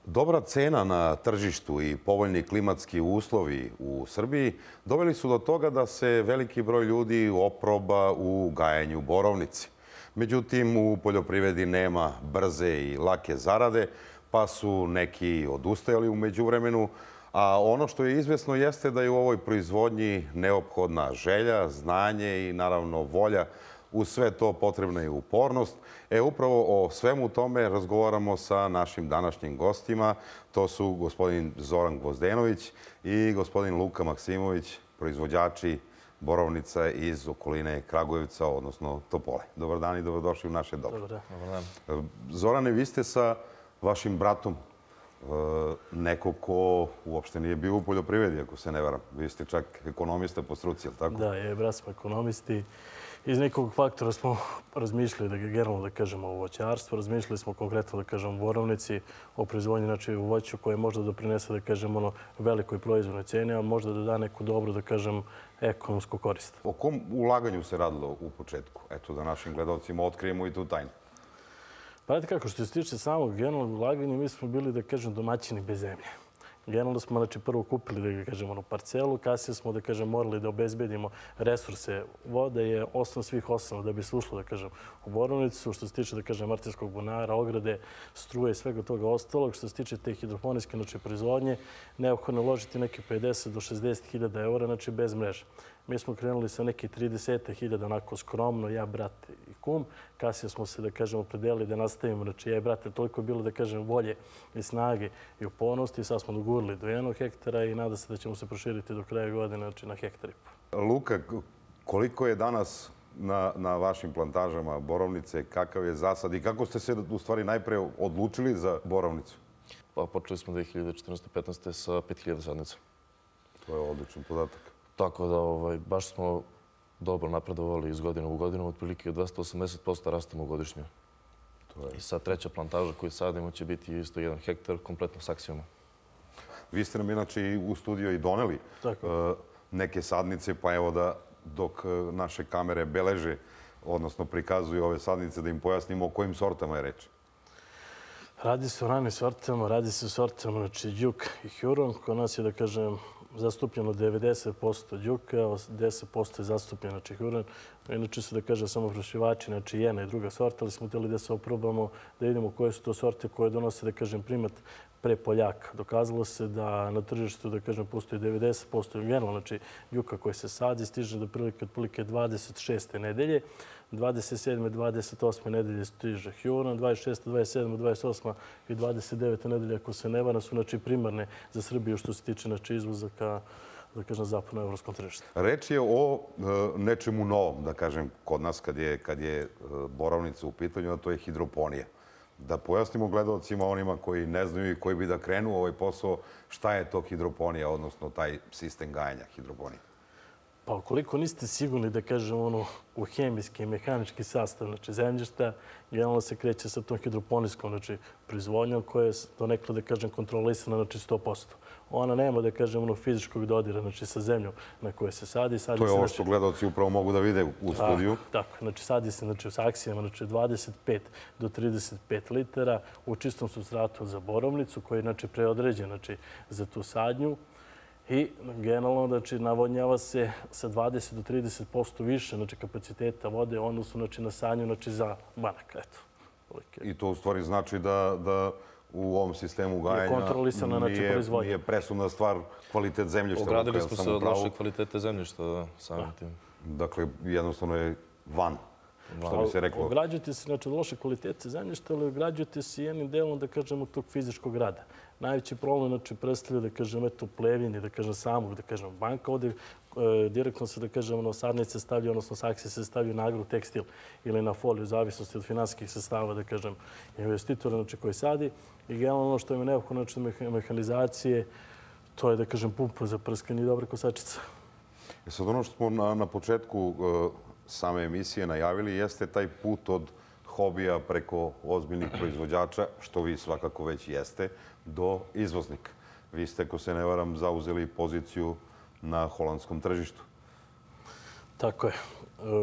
Dobra cena na tržištu i povoljni klimatski uslovi u Srbiji doveli su do toga da se veliki broj ljudi oproba u gajenju borovnice. Međutim, u poljoprivredi nema brze i lake zarade, pa su neki odustajali u međuvremenu, a ono što je izvesno jeste da je u ovoj proizvodnji neophodna želja, znanje i naravno volja. Uz sve to potrebna je upornost. E, upravo o svemu tome razgovaramo sa našim današnjim gostima. To su gospodin Zoran Gvozdenović i gospodin Luka Maksimović, proizvođači borovnica iz okoline Kragujevca, odnosno Topole. Dobar dan i dobrodošli u naše dobro. Dobar dan. Zorane, vi ste sa vašim bratom neko ko uopšte nije bio u poljoprivredi, ako se ne varam. Vi ste čak ekonomista po struci, je li tako? Da, je, brat smo ekonomisti. Iz nekog faktora smo razmišljali da ga generalno da kažemo o voćarstvu, razmišljali smo konkretno da kažemo o borovnici, o proizvodnji znači u voću koje možda doprinese da kažemo ono velikoj proizvodnoj ceni, a možda da da neku dobru da kažem ekonomsku korist. O kom ulaganju se radilo u početku? Eto da našim gledalcima otkrijemo i tu tajnu. Pa znate kako, što se tiče samog generalnog ulaganja, mi smo bili da kažem domaćini bez zemlje. Generalno smo znači, prvo kupili da kažemo, parcelu, kasnije smo da kažem, morali da obezbedimo resurse. Voda je osnov svih osnova da bi se ušlo da kažem, u borovnicu. Što se tiče da kažem, martinskog bunara, ograde, struje i svega toga ostalog. Što se tiče te hidroponijske znači, proizvodnje, neophodno je uložiti neke pedeset do šezdeset hiljada eura znači, bez mreže. Mi smo krenuli sa neke trideset hiljada onako skromno, ja, brat i kum. Kasnije smo se, da kažem, opredelili da nastavimo. Znači, ja i brat, toliko je bilo, da kažem, volje i snage i upornosti. Sad smo dogurili do jednog hektara i nada se da ćemo se proširiti do kraja godine znači, na hektar i po. Luka, koliko je danas na, na vašim plantažama borovnice, kakav je zasad i kako ste se u stvari najpre odlučili za borovnicu? Pa počeli smo dve hiljade četrnaeste petnaeste sa pet hiljada sadnica. To je odličan podatak. Tako da ovaj, baš smo dobro napredovali iz godine u godinu, otprilike dvesta osamdeset posto rastemo godišnje. To je... I sad treća plantaža koju sadimo će biti isto jedan hektar, kompletno s aksijama. Vi ste nam inače u studiju i doneli uh, neke sadnice, pa evo da dok uh, naše kamere beleže, odnosno prikazuju ove sadnice, da im pojasnimo o kojim sortama je reč. Radi se o ranim sortama, radi se o sortama, znači Đuk i Huron. Kod nas je, da kažem, zastupljeno devedeset posto Đuka, deset posto je zastupljeno znači Huron. Inače se da kaže samo prošivači, znači jedna i druga sorta, ali smo htjeli da se oprobamo, da vidimo koje su to sorte koje donose, da kažem, primat pre Poljaka. Dokazalo se da na tržištu, da kažem, postoji devedeset posto generalno, znači juka koja se sadi, stiže do prilike otprilike dvadeset šeste nedelje, dvadeset sedme, dvadeset osme nedelje stiže Huron, dvadeset šeste, dvadeset sedme, dvadeset osme i dvadeset devete nedelje, ako se ne varam, su znači primarne za Srbiju što se tiče znači izvoza ka, da kažem, zapadnoevropskom tržištu. Reč je o e, nečemu novom, da kažem, kod nas kad je, kad je e, borovnica u pitanju, a to je hidroponija. Da pojasnimo gledalcima, onima koji ne znaju i koji bi da krenu u ovaj posao, šta je to hidroponija, odnosno taj sistem gajanja hidroponije? Pa ukoliko niste sigurni da kažem ono u hemijski i mehanički sastav znači zemljišta, generalno se kreće sa tom hidroponijskom znači proizvodnjom koja je donekle da kažem kontrolisana znači sto posto. Ona nema da kažem ono fizičkog dodira znači sa zemljom na kojoj se sadi. sadi to je se, ovo što gledalci upravo mogu da vide u studiju. Tako, tako. Znači sadi se znači, u saksijama znači, dvadeset pet do trideset pet litara u čistom supstratu za borovnicu koji je znači, preodređen znači, za tu sadnju. I generalno znači, navodnjava se sa dvadeset do trideset posto više znači, kapaciteta vode u odnosu znači, na sadnju znači, za banak. Eto. I to u stvari znači da, da u ovom sistemu gajanja nije, nije presudna stvar kvalitet zemljišta. Ogradili smo se od loše kvalitete zemljišta, da, samim tim. Dakle, jednostavno je van, što bi se reklo. Ograđujete se znači, od loše kvalitete zemljišta, ali ograđujete se jednim delom, da kažemo, tog fizičkog rada. Najveći problem znači, predstavlja, da kažem, eto, plevini, da kažem, samog, da kažem, banka. Ovdje e, direktno se, da kažem, ono, sadnice stavljaju, odnosno saksije se stavljaju na agrotekstil ili na foliju, u zavisnosti od finansijskih sredstava, da kažem, investitora znači, koji sadi. I generalno ono što je neophodno znači, mehanizacije, to je, da kažem, pumpa za prskanje i dobra kosačica. E sad, ono što smo na, na početku e, same emisije najavili jeste taj put od hobija preko ozbiljnih proizvođača, što vi svakako već jeste, do izvoznika. Vi ste, ako se ne varam, zauzeli poziciju na holandskom tržištu. Tako je.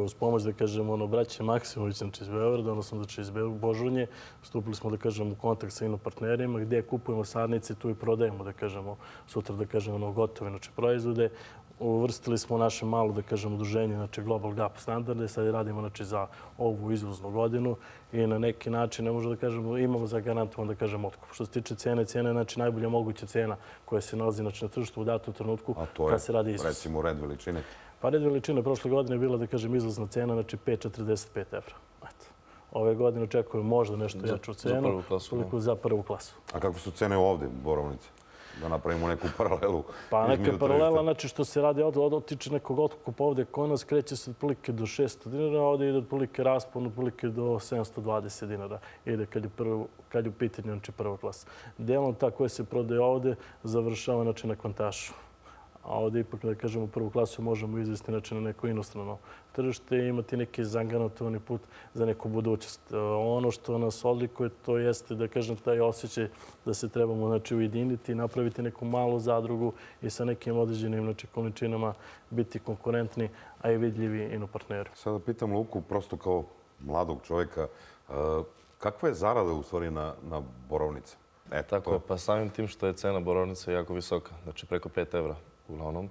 Uz pomoć, da kažem, ono, braće Maksimović, znači iz Beograda, odnosno znači iz Božunje, stupili smo, da kažem, u kontakt sa inopartnerima, gdje kupujemo sadnice, tu i prodajemo, da kažemo, sutra, da kažemo, ono, gotove, znači, proizvode. Uvrstili smo naše malo, da kažem, udruženje, znači Global Gap standarde, sad radimo znači, za ovu izvoznu godinu i na neki način, ne možemo da kažemo, imamo zagarantovan, da kažem, otkup. Što se tiče cene, cena je znači, najbolja moguća cena koja se nalazi znači, na tržištu u datom trenutku kad se radi izvoz. A to je, recimo, red veličine? Pa red veličine prošle godine je bila, da kažem, izvozna cena, znači pet zarez četrdeset pet evra. Eto. Ove godine očekujem možda nešto jaču cenu, za prvu klasu. toliko za prvu klasu. A kako su cene ovdje, borovnice? Da napravimo neku paralelu. Pa neka paralela, znači što se radi ovdje, od otiče nekog otkupa ovdje kod nas, kreće se otprilike do šesto dinara, ovdje ide otprilike raspon, otprilike do sedamsto dvadeset dinara. Ide kad je, prvo, kad je u pitanju, znači prva klasa. Delom ta koja se prodaje ovdje završava znači, na kvantašu. A ovdje ipak, da kažemo, prvu klasu možemo izvesti znači, na neko inostrano tržište i imati neki zagarantovani put za neku budućnost. Ono što nas odlikuje, to jeste, da kažem, taj osjećaj da se trebamo znači, ujediniti, napraviti neku malu zadrugu i sa nekim određenim znači, količinama biti konkurentni, a i vidljivi inopartneri. Sada pitam Luku, prosto kao mladog čovjeka, kakva je zarada u stvari na, na borovnice? E, tako je, pa samim tim što je cena borovnice jako visoka, znači preko pet evra. Uglavnom,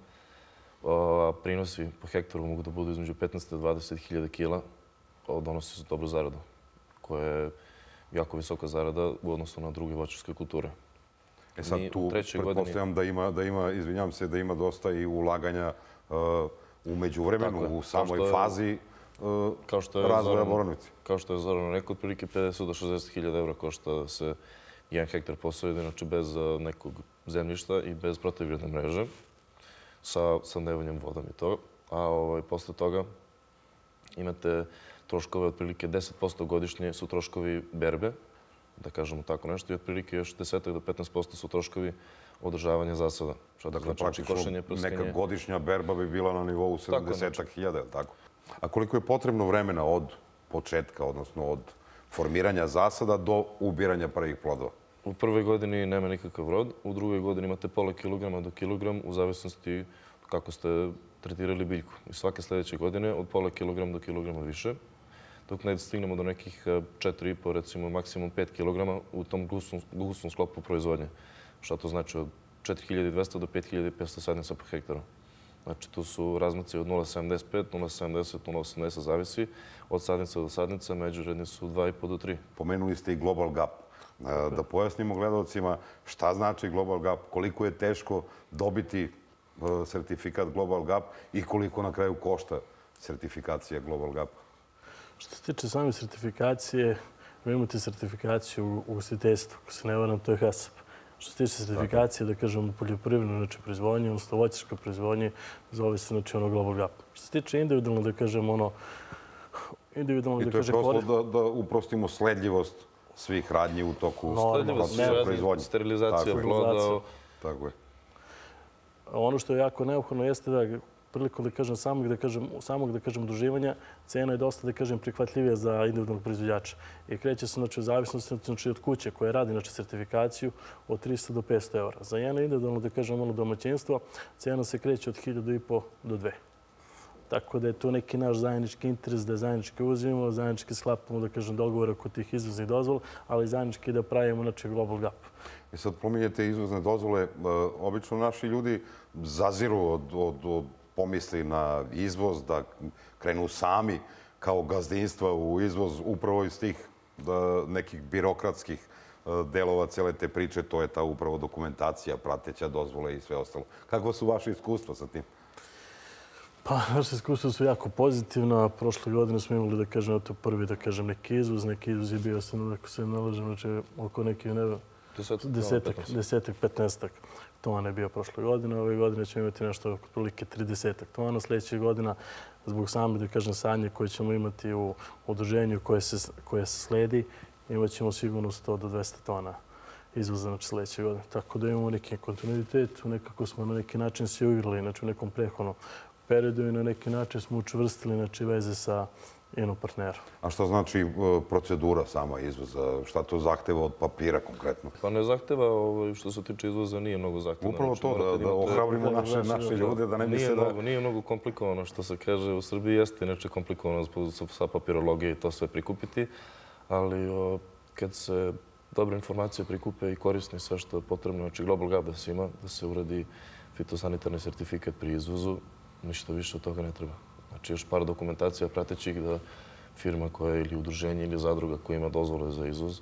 prinosi po hektaru mogu da budu između petnaest do dvadeset hiljada kila, donose se dobru zaradu, koja je jako visoka zarada u odnosu na druge voćarske kulture. E sad tu pretpostavljam da ima, da ima, izvinjam se, da ima dosta i ulaganja u međuvremenu, u samoj fazi razvoja borovnice. Kao što je Zoran rekao, otprilike pedeset do šezdeset hiljada evra košta se jedan hektar posojede, znači bez nekog zemljišta i bez protivgradne mreže, sa sandevanjem vodom i to. A ovaj, posle toga imate troškove otprilike deset posto godišnje su troškovi berbe, da kažemo tako nešto, i otprilike još deset do petnaest posto su troškovi održavanja zasada. Dakle, praktično neka godišnja berba bi bila na nivou sedamdeset hiljada, tako? A koliko je potrebno vremena od početka, odnosno od formiranja zasada do ubiranja prvih plodova? U prvoj godini nema nikakav rod, u drugoj godini imate pola kilograma do kilogram u zavisnosti kako ste tretirali biljku. I svake sljedeće godine od pola kilograma do kilograma više, dok ne stignemo do nekih četiri i po, recimo maksimum pet kilograma u tom gusnom sklopu proizvodnje. Šta to znači od četiri hiljade dvesta do pet hiljada petsto sadnica po hektaru. Znači, tu su razmaci od nula zarez sedamdeset pet, nula zarez sedamdeset, nula zarez osamdeset, zavisi od sadnica do sadnica, međuredni su dva i po do tri. Pomenuli ste i Global Gap. Da pojasnimo gledalcima šta znači Global Gap, koliko je teško dobiti sertifikat Global Gap i koliko na kraju košta sertifikacija Global Gap. Što se tiče same sertifikacije, vi imate sertifikaciju u ugostiteljstvu, ako se ne varam, to je HACCP. Što se tiče sertifikacije, da kažem, u poljoprivrednoj znači, proizvodnji, odnosno voćarskoj proizvodnji, zove se znači, ono Global Gap. Što se tiče individualno, da kažem, ono... Individualno, I to je prosto da uprostimo sledljivost svih radnji u toku proizvodnje. Sterilizacija ploda. Tako je. Ono što je jako neophodno jeste da prilikom da kažem samog da kažem samog da kažem udruživanja cena je dosta da kažem prihvatljivija za individualnog proizvođača i kreće se znači u zavisnosti znači od kuće koja radi znači sertifikaciju od trista do petsto evra. Za jedno individualno da kažem malo domaćinstvo cena se kreće od hiljadu i po do dve. Tako da je to neki naš zajednički interes da zajednički uzimamo, zajednički sklapamo da kažem dogovore oko tih izvoznih dozvola, ali zajednički da pravimo znači Global Gap. I sad pominjete izvozne dozvole. Obično naši ljudi zaziru od, od, od pomisli na izvoz, da krenu sami kao gazdinstva u izvoz upravo iz tih da, nekih birokratskih delova cele te priče. To je ta upravo dokumentacija, prateća dozvole i sve ostalo. Kako su vaše iskustva sa tim? Pa, naše iskustva su jako pozitivna. Prošle godine smo imali, da kažem, to prvi, da kažem, neki izvoz. Neki izvoz je bio, ako se nalažem, znači, oko nekih, ne znam, desetak, petnaestak tona je bio prošle godine. Ove godine ćemo imati nešto oko prilike tridesetak tona. Sljedećih godina, zbog same, da kažem, sanje koje ćemo imati u udruženju koje se, koje se sledi, imat ćemo sigurno sto do dvesta tona izvoza znači, sljedeće godine. Tako da imamo neki kontinuitet, nekako smo na neki način se uigrali, znači u nekom prethodnom periodu i na neki način smo učvrstili znači, veze sa jednom partnerom. A šta znači procedura sama izvoza? Šta to zahteva od papira konkretno? Pa ne zahteva, što se tiče izvoza, nije mnogo zahteva. Upravo to, da ohrabrimo naše ljude, da ne misle da... Nije mnogo komplikovano, što se kaže. U Srbiji jeste inače komplikovano sa papirologije i to sve prikupiti, ali kad se dobre informacije prikupe i korisne sve što je potrebno, znači Global Gap da se ima, da se uradi fitosanitarni sertifikat pri izvozu, ništa više od toga ne treba. Znači još par dokumentacija pratećih da firma koja je ili udruženje ili zadruga koja ima dozvole za izvoz,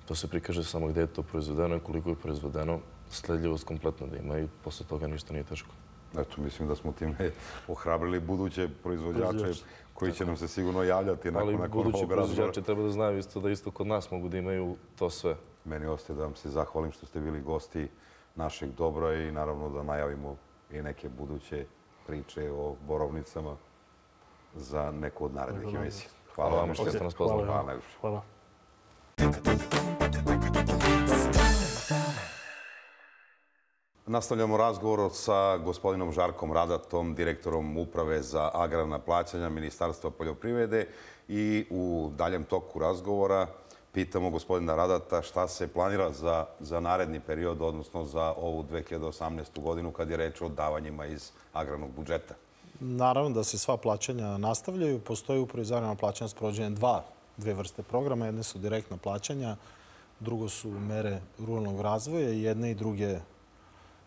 to se prikaže samo gde je to proizvedeno i koliko je proizvedeno, sledljivost kompletno da ima i posle toga ništa nije teško. Eto, mislim da smo time ohrabrili buduće proizvođače koji će nam se sigurno javljati nakon ovog razgovora. Ali budući proizvođači treba da znaju isto da isto kod nas mogu da imaju to sve. Meni ostaje da vam se zahvalim što ste bili gosti našeg dobra i naravno da najavimo i neke buduće priče o borovnicama za neku od narednih emisija. Hvala vam što ste nas pozvali. Hvala. Nastavljamo razgovor sa gospodinom Žarkom Radatom, direktorom Uprave za agrarna plaćanja Ministarstva poljoprivrede i u daljem toku razgovora pitamo gospodina Radata šta se planira za, za naredni period, odnosno za ovu dve hiljade osamnaestu godinu kad je reč o davanjima iz agrarnog budžeta. Naravno da se sva plaćanja nastavljaju. Postoji upravo iz agrarna plaćanja sprovođenje dva, dve vrste programa. Jedne su direktna plaćanja, drugo su mere ruralnog razvoja i jedne i druge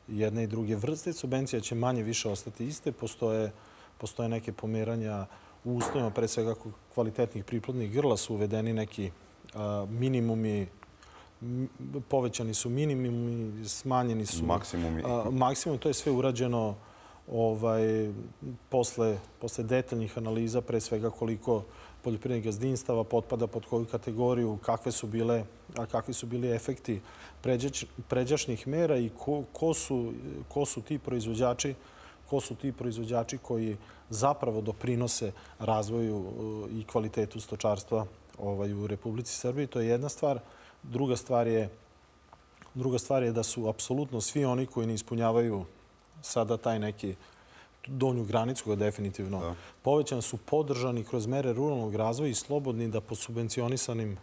jedne i druge vrste. Subvencija će manje više ostati iste. Postoje, postoje neke pomeranja u uslovima, pre svega kvalitetnih priplodnih grla su uvedeni neki a, minimumi, povećani su minimumi, smanjeni su maksimumi. A, maksimum. To je sve urađeno ovaj, posle, posle detaljnih analiza, pre svega koliko poljoprivrednih gazdinstava potpada pod koju kategoriju, kakve su bile, a kakvi su bili efekti pređač, pređašnjih mera i ko, ko, su, ko su ti proizvođači ko su ti proizvođači koji zapravo doprinose razvoju i kvalitetu stočarstva ovaj, u Republici Srbiji. To je jedna stvar. Druga stvar je, druga stvar je da su apsolutno svi oni koji ne ispunjavaju sada taj neki donju granicu, koja definitivno da. Povećan su podržani kroz mere ruralnog razvoja i slobodni da po subvencionisanim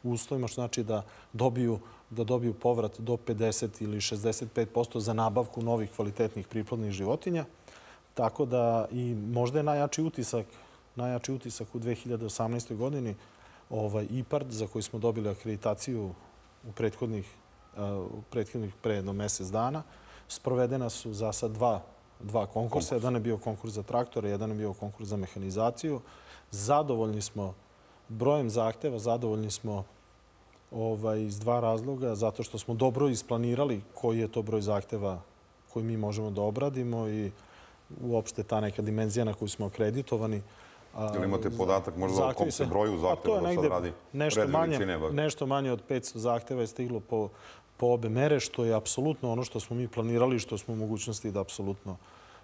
uslovima, što znači da dobiju, da dobiju povrat do pedeset ili šezdeset pet posto za nabavku novih kvalitetnih priplodnih životinja. Tako da i možda je najjači utisak, najjači utisak u dve hiljade osamnaestoj godini ovaj IPARD za koji smo dobili akreditaciju u prethodnih, u prethodnih pre jedno mesec dana. Sprovedena su za sad dva dva konkursa. Jedan je bio konkurs za traktore, jedan je bio konkurs za mehanizaciju. Zadovoljni smo brojem zahteva, zadovoljni smo iz dva razloga, zato što smo dobro isplanirali koji je to broj zahteva koji mi možemo da obradimo i uopšte ta neka dimenzija na koju smo akreditovani. Ili imate podatak možda o kom se broju zahteva da sad radi? Nešto manje od petsto zahteva je stiglo po obe mere, što je apsolutno ono što smo mi planirali i što smo u mogućnosti da apsolutno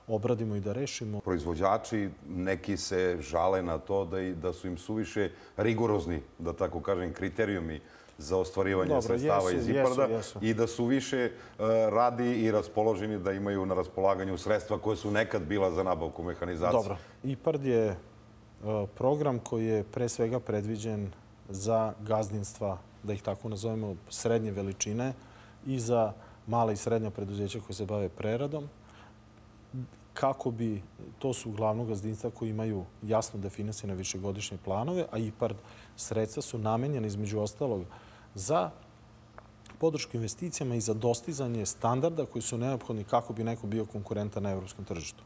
obradimo i da rešimo. Proizvođači neki se žale na to da su im suviše rigorozni, da tako kažem, kriterijumi za ostvarivanje sredstava iz IPARD-a i da su više radi i raspoloženi da imaju na raspolaganju sredstva koje su nekad bila za nabavku mehanizacije. Dobro. IPARD je program koji je pre svega predviđen za gazdinstva, da ih tako nazovemo, srednje veličine i za mala i srednja preduzeća koje se bave preradom. Kako bi, to su uglavnom gazdinstva koji imaju jasno definisane višegodišnje planove, a IPARD sredstva su namenjene između ostalog za podršku investicijama i za dostizanje standarda koji su neophodni kako bi neko bio konkurentan na evropskom tržištu.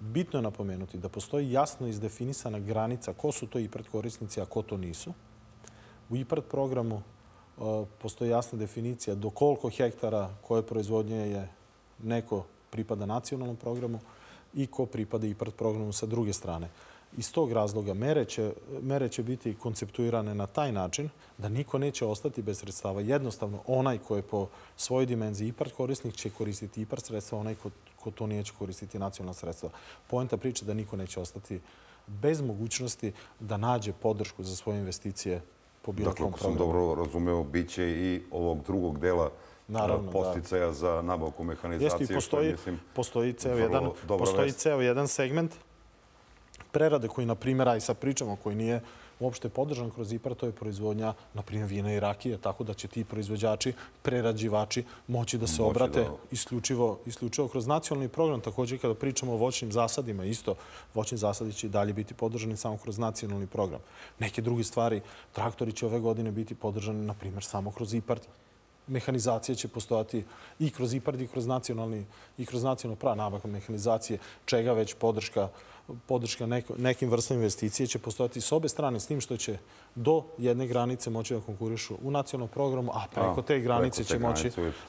Bitno je napomenuti da postoji jasno izdefinisana granica ko su to IPARD korisnici, a ko to nisu. U IPARD programu postoji jasna definicija do koliko hektara koje proizvodnje je neko pripada nacionalnom programu i ko pripada IPARD programu sa druge strane. Iz tog razloga mere će biti konceptuirane na taj način da niko neće ostati bez sredstava. Jednostavno, onaj ko je po svojoj dimenziji IPARD korisnik će koristiti IPARD sredstva, onaj ko to neće koristiti nacionalna sredstva. Poenta priče da niko neće ostati bez mogućnosti da nađe podršku za svoje investicije po bilo kom programu. Dakle, ako sam dobro razumeo, bit će i ovog drugog dela posticaja za nabavku mehanizacije. Postoji ceo jedan segment prerade koji, na primjer, a i sad pričamo, koji nije uopšte podržan kroz IPARD, to je proizvodnja, na primjer, vina i rakije, tako da će ti proizvođači, prerađivači moći da se obrate isključivo kroz nacionalni program. Također, kada pričamo o voćnim zasadima, isto, voćni zasadi će i dalje biti podržani samo kroz nacionalni program. Neke druge stvari, traktori će ove godine biti podržani, na primjer, samo kroz IPARD. Mehanizacija će postojati i kroz IPARD i kroz nacionalni i kroz nacionalno pravo nabavka mehanizacije, čega već podrška podrška nekim vrstama investicije će postojati s obe strane, s tim što će do jedne granice moći da konkurišu u nacionalnom programu, a preko te granice će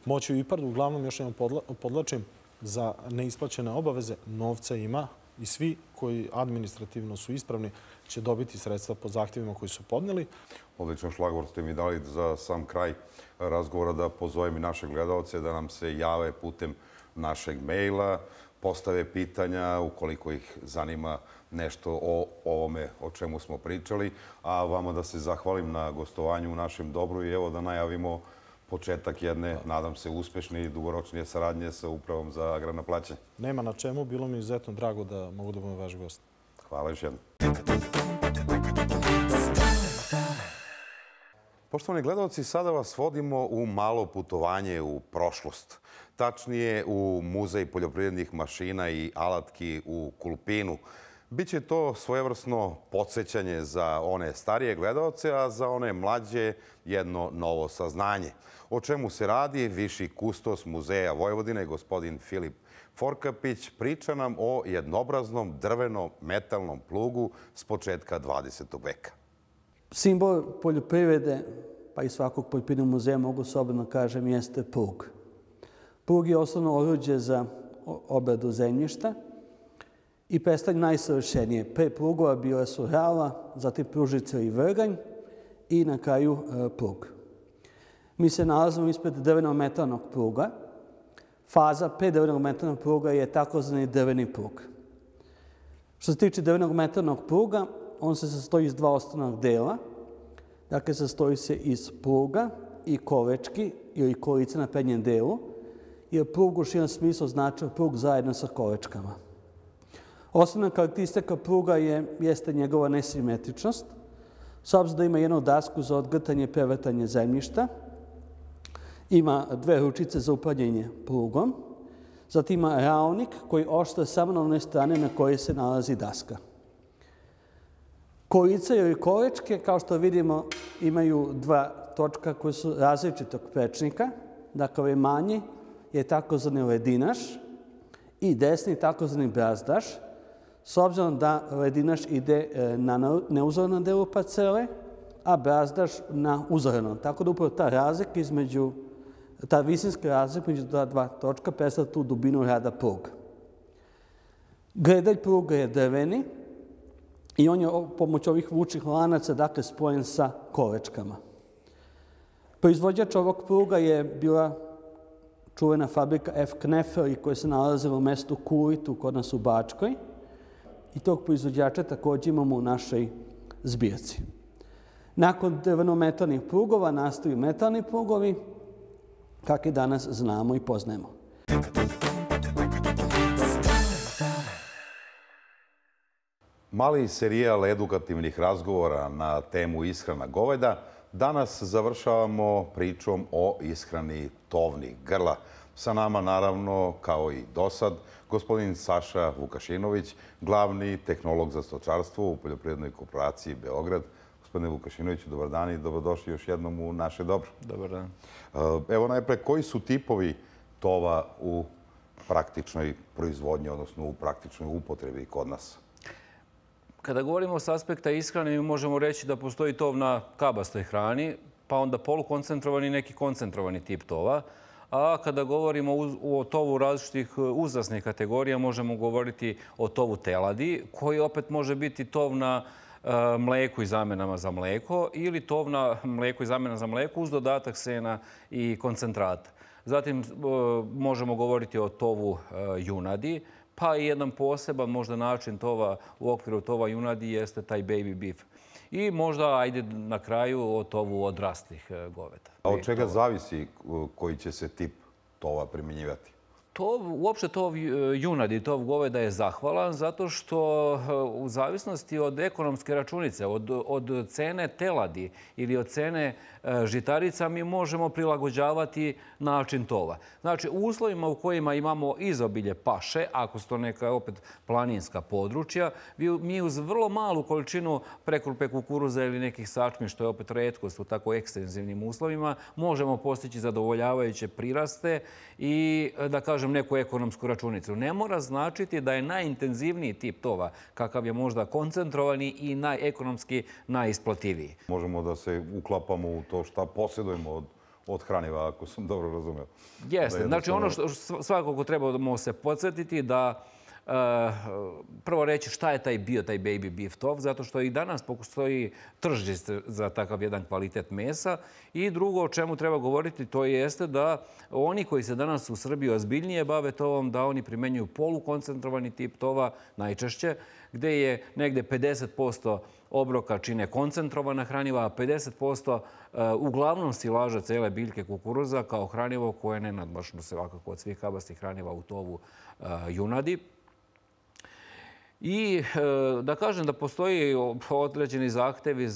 moći u IPARD. Uglavnom, još jednom podlačim, za neisplaćene obaveze novca ima i svi koji administrativno su ispravni će dobiti sredstva po zahtjevima koji su podneli. Odličan šlagvor ste mi dali za sam kraj razgovora da pozovem i naše gledalce da nam se jave putem našeg maila, postave pitanja ukoliko ih zanima nešto o ovome o čemu smo pričali, a vama da se zahvalim na gostovanju u našem dobru i evo da najavimo početak jedne, nadam se, uspešne i dugoročnije saradnje sa Upravom za agrarna plaćanja. Nema na čemu, bilo mi izuzetno drago da mogu da budem vaš gost. Hvala još jednom. Poštovani gledalci, sada vas vodimo u malo putovanje u prošlost. Tačnije u Muzej poljoprivrednih mašina i alatki u Kulpinu. Biće to svojevrsno podsjećanje za one starije gledalce, a za one mlađe jedno novo saznanje. O čemu se radi, viši kustos Muzeja Vojvodine, gospodin Filip Forkapić, priča nam o jednobraznom drveno-metalnom plugu s početka dvadesetog veka. Simbol poljoprivrede, pa i svakog poljoprivrednog muzeja, mogu slobodno kažem, jeste plug. Plug je osnovno oruđe za obradu zemljišta i predstavlja najsavršenije. Pre plugova bila su rala, zatim pružica i vrganj i na kraju plug. Mi se nalazimo ispred drveno-metalnog pluga. Faza pre drvenog metalnog pluga je takozvani drveni plug. Što se tiče drvenog metalnog pluga, on se sastoji iz dva osnovnog dela. Dakle, sastoji se iz pluga i kolečki ili kolice na prednjem delu, jer plug u širem smislu znači plug zajedno sa kolečkama. Osnovna karakteristika pluga jeste njegova nesimetričnost, s obzirom da ima jednu dasku za odgrtanje i prevrtanje zemljišta, ima dve ručice za upravljanje plugom, zatim ima ravnik koji oštra samo na one strane na koje se nalazi daska. Kolice ili kolečke, kao što vidimo, imaju dva točka koji su različitog prečnika. Dakle, ovaj manji je takozvani ledinaš i desni takozvani brazdaš, s obzirom da ledinaš ide na neuzorenom delu parcele, a brazdaš na uzorenom. Tako da upravo ta razlika između, ta visinska razlika između ta dva točka predstavlja tu dubinu rada pruga. Gredalj pruga je drveni i on je pomoć ovih vučnih lanaca dakle spojen sa kolečkama. Proizvođač ovog pruga je bila čuvena fabrika F. Knefel koja se nalazila u mestu Kuritu kod nas u Bačkoj. I tog proizvođača također imamo u našoj zbirci. Nakon drveno-metalnih prugova nastaju metalni prugovi, kakve danas znamo i poznajemo. Mali serijal edukativnih razgovora na temu ishrana goveda. Danas završavamo pričom o ishrani tovnih grla. Sa nama, naravno, kao i dosad, gospodin Saša Vukašinović, glavni tehnolog za stočarstvo u Poljoprivrednoj korporaciji Beograd. Gospodine Vukašinoviću, dobar dan i dobrodošli još jednom u naše dobro. Dobar dan. Evo najpre, koji su tipovi tova u praktičnoj proizvodnji, odnosno u praktičnoj upotrebi kod nas? Kada govorimo s aspekta ishrane, mi možemo reći da postoji tov na kabastoj hrani, pa onda polukoncentrovani i neki koncentrovani tip tova. A kada govorimo o tovu različitih uzrasnih kategorija, možemo govoriti o tovu teladi, koji opet može biti tov na mleku i zamenama za mleko ili tov na mleku i zamena za mleko uz dodatak sena i koncentrata. Zatim možemo govoriti o tovu junadi, pa i jedan poseban možda način tova u okviru tova junadi jeste taj baby beef. I možda, ajde na kraju, o tovu odraslih goveda. A od čega zavisi koji će se tip tova primjenjivati? Uopšte tov junadi, tov goveda je zahvalan zato što u zavisnosti od ekonomske računice, od cene teladi ili od cene žitarica mi možemo prilagođavati način tova. Znači, u uslovima u kojima imamo izobilje paše, ako su to neka opet planinska područja, mi uz vrlo malu količinu prekrupe kukuruza ili nekih sačmi, što je opet retkost u tako ekstenzivnim uslovima, možemo postići zadovoljavajuće priraste i, da kažem, neku ekonomsku računicu. Ne mora značiti da je najintenzivniji tip tova, kakav je možda koncentrovani i najekonomski najisplativiji. Možemo da se uklapamo u to šta posjedujemo od hraniva, ako sam dobro razumeo. Jeste. Znači, ono što svakako trebamo se podsjetiti da prvo reći šta je taj bio, taj baby beef tov, zato što i danas postoji tržište za takav jedan kvalitet mesa. I drugo o čemu treba govoriti, to jeste da oni koji se danas u Srbiji ozbiljnije bave tovom, da oni primenjuju polukoncentrovani tip tova najčešće, gde je negde pedeset posto obroka čine koncentrovana hraniva, a pedeset posto uglavnom silaža cele biljke kukuruza kao hranivo koje je nenadmašno svakako od svih kabastih hraniva u tovu junadi. I da kažem da postoji određeni zahtevi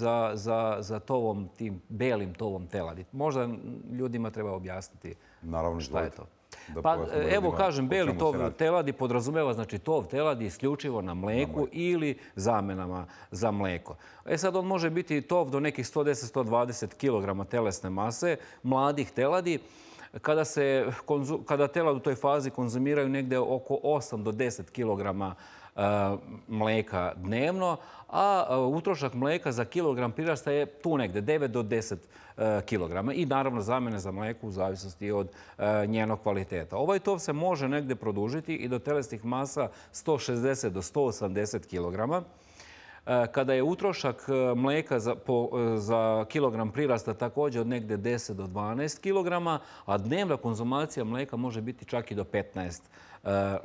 za tovom, tim belim tovom teladi. Možda ljudima treba objasniti šta je to. Pa evo kažem, beli tov teladi podrazumeva, znači tov teladi isključivo na mleku ili zamenama za mleko. E sad on može biti tov do nekih sto deset do sto dvadeset kilograma telesne mase, mladih teladi. Kada telad u toj fazi konzumiraju negde oko osam do deset kilograma mleka dnevno, a utrošak mleka za kilogram prirasta je tu negde devet do deset kilograma i naravno zamene za mleko u zavisnosti od njenog kvaliteta. Ovaj tov se može negde produžiti i do telesnih masa sto šezdeset do sto osamdeset kilograma. Kada je utrošak mleka za kilogram prirasta također od negde deset do dvanaest kilograma, a dnevna konzumacija mleka može biti čak i do petnaest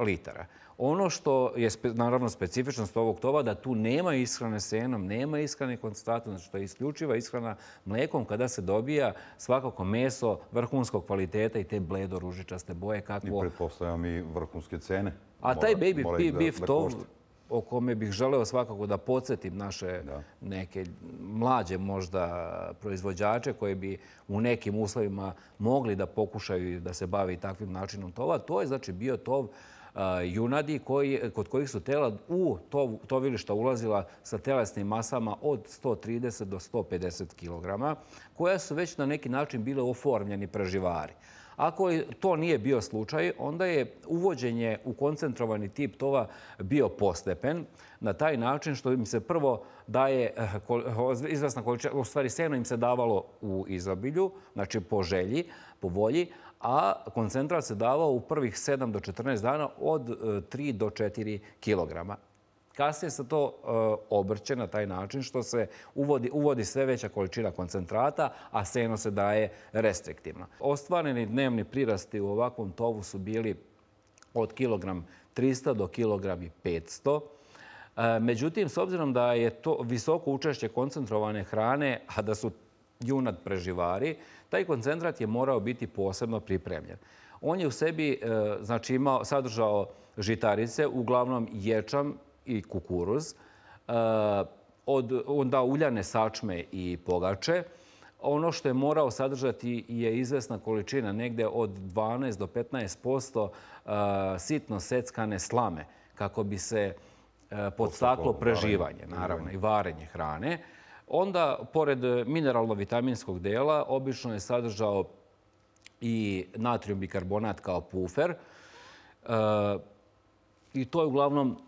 litara. Ono što je naravno specifičnost ovog tova da tu nema ishrane senom, nema ishrane koncentratom, znači to je isključiva ishrana mlekom kada se dobija svakako meso vrhunskog kvaliteta i te bledo ružičaste boje. I pretpostavljam i vrhunske cene. A taj baby beef tov o kome bih želeo svakako da podsjetim naše neke mlađe možda proizvođače koji bi u nekim uslovima mogli da pokušaju da se bavi takvim načinom tova. To je znači bio tov junadi kod kojih su telad u tovilišta ulazila sa telesnim masama od sto trideset do sto pedeset kilograma, koja su već na neki način bile oformljeni preživari. Ako to nije bio slučaj, onda je uvođenje u koncentrovani tip tova bio postepen na taj način što im se prvo daje izvesna količina, u stvari seno im se davalo u izobilju, znači po želji, po volji, a koncentrat se davao u prvih sedam do četrnaest dana od tri do četiri kilograma. Kasnije se to obrće na taj način što se uvodi, uvodi sve veća količina koncentrata, a seno se daje restriktivno. Ostvareni dnevni prirasti u ovakvom tovu su bili od kilogram trista do kilogram petsto. Međutim, s obzirom da je to visoko učešće koncentrovane hrane, a da su junad preživari, taj koncentrat je morao biti posebno pripremljen. On je u sebi znači, imao, sadržao žitarice, uglavnom ječam i kukuruz, od onda uljane sačme i pogače. Ono što je morao sadržati je izvesna količina, negde od dvanaest do petnaest posto sitno seckane slame, kako bi se podstaklo preživanje, naravno, i varenje hrane. Onda, pored mineralno-vitaminskog dela, obično je sadržao i natrijum bikarbonat kao pufer. I to je uglavnom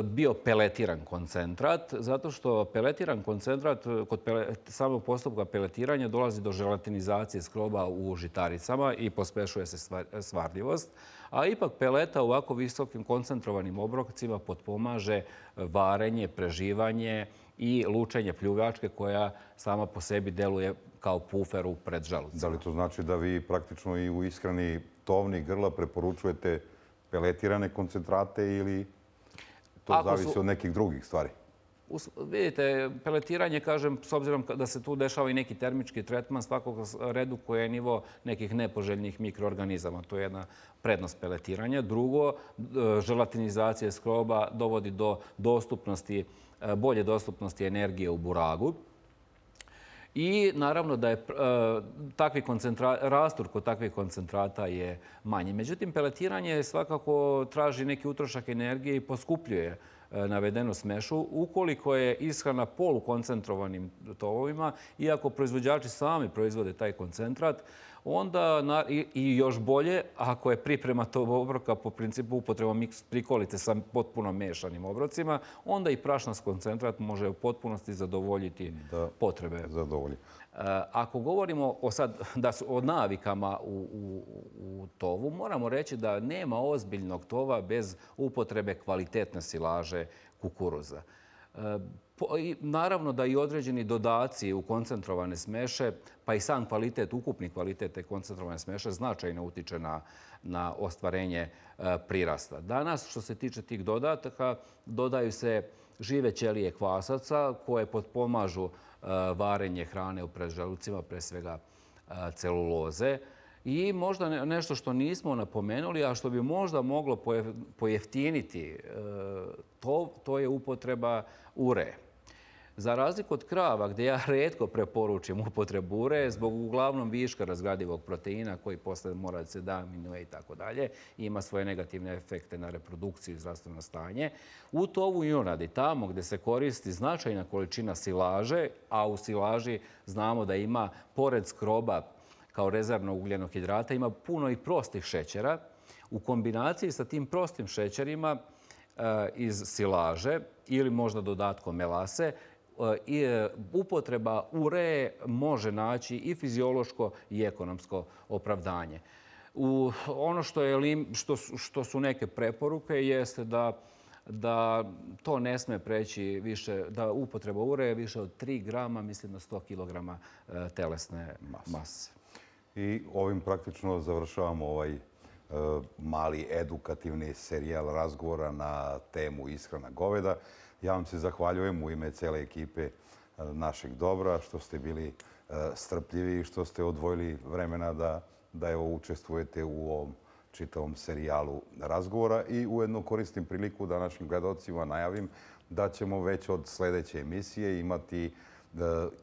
bio peletiran koncentrat, zato što peletiran koncentrat, kod samog postupka peletiranja dolazi do želatinizacije skroba u žitaricama i pospešuje se svardljivost. A ipak peleta u ovako visokim koncentrovanim obrocima potpomaže varenje, preživanje i lučenje pljuvačke koja sama po sebi deluje kao pufer u predželucima. Da li to znači da vi praktično i u ishrani tovnih grla preporučujete peletirane koncentrate ili to zavisi od nekih drugih stvari? Vidite, peletiranje, kažem, s obzirom da se tu dešava i neki termički tretman, svakog redukuje nivo nekih nepoželjnih mikroorganizama. To je jedna prednost peletiranja. Drugo, želatinizacija skroba dovodi do dostupnosti, bolje dostupnosti energije u buragu. I naravno da je takvi rastur kod takvih koncentrata je manji. Međutim, peletiranje svakako traži neki utrošak energije i poskupljuje navedenu smešu. Ukoliko je ishrana polukoncentrovanim tovovima, iako proizvođači sami proizvode taj koncentrat, onda i još bolje, ako je priprema tog obroka po principu upotrebom miks prikolice sa potpuno mešanim obrocima, onda i prašnas koncentrat može u potpunosti zadovoljiti potrebe. Ako govorimo o, sad, da su o navikama u, u, u tovu, moramo reći da nema ozbiljnog tova bez upotrebe kvalitetne silaže kukuruza. Naravno da i određeni dodaci u koncentrovane smeše, pa i sam kvalitet, ukupni kvalitet te koncentrovane smeše značajno utiče na, na ostvarenje prirasta. Danas, što se tiče tih dodataka, dodaju se žive ćelije kvasaca koje potpomažu varenje hrane u predželucima, pre svega celuloze. I možda nešto što nismo napomenuli, a što bi možda moglo pojeftiniti to, to je upotreba ure. Za razliku od krava, gdje ja retko preporučim upotrebu ure, zbog uglavnom viška razgradivog proteina koji posle mora da se da aminuje i tako dalje, ima svoje negativne efekte na reprodukciju i zdravstveno stanje. U tovu junadi, tamo gdje se koristi značajna količina silaže, a u silaži znamo da ima, pored skroba kao rezervnog ugljenog hidrata, ima puno i prostih šećera. U kombinaciji sa tim prostim šećerima iz silaže ili možda dodatkom melase, upotreba ure može naći i fiziološko i ekonomsko opravdanje. U ono što, je, što, što su neke preporuke jeste da, da to ne sme preći više, da upotreba ure je više od tri grama, mislim na sto kilograma telesne mase. I ovim praktično završavamo ovaj mali edukativni serijal razgovora na temu ishrana goveda. Ja vam se zahvaljujem u ime cele ekipe našeg Dobra što ste bili strpljivi i što ste odvojili vremena da, da evo, učestvujete u ovom čitavom serijalu razgovora. I ujedno koristim priliku da našim gledalcima najavim da ćemo već od sljedeće emisije imati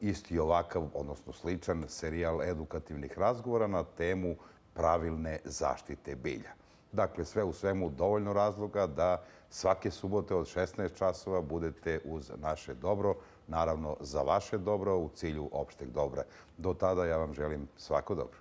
isti ovakav, odnosno sličan serijal edukativnih razgovora na temu pravilne zaštite bilja. Dakle, sve u svemu dovoljno razloga da svake subote od šesnaest časova budete uz naše Dobro, naravno za vaše dobro u cilju opšteg dobra. Do tada ja vam želim svako dobro.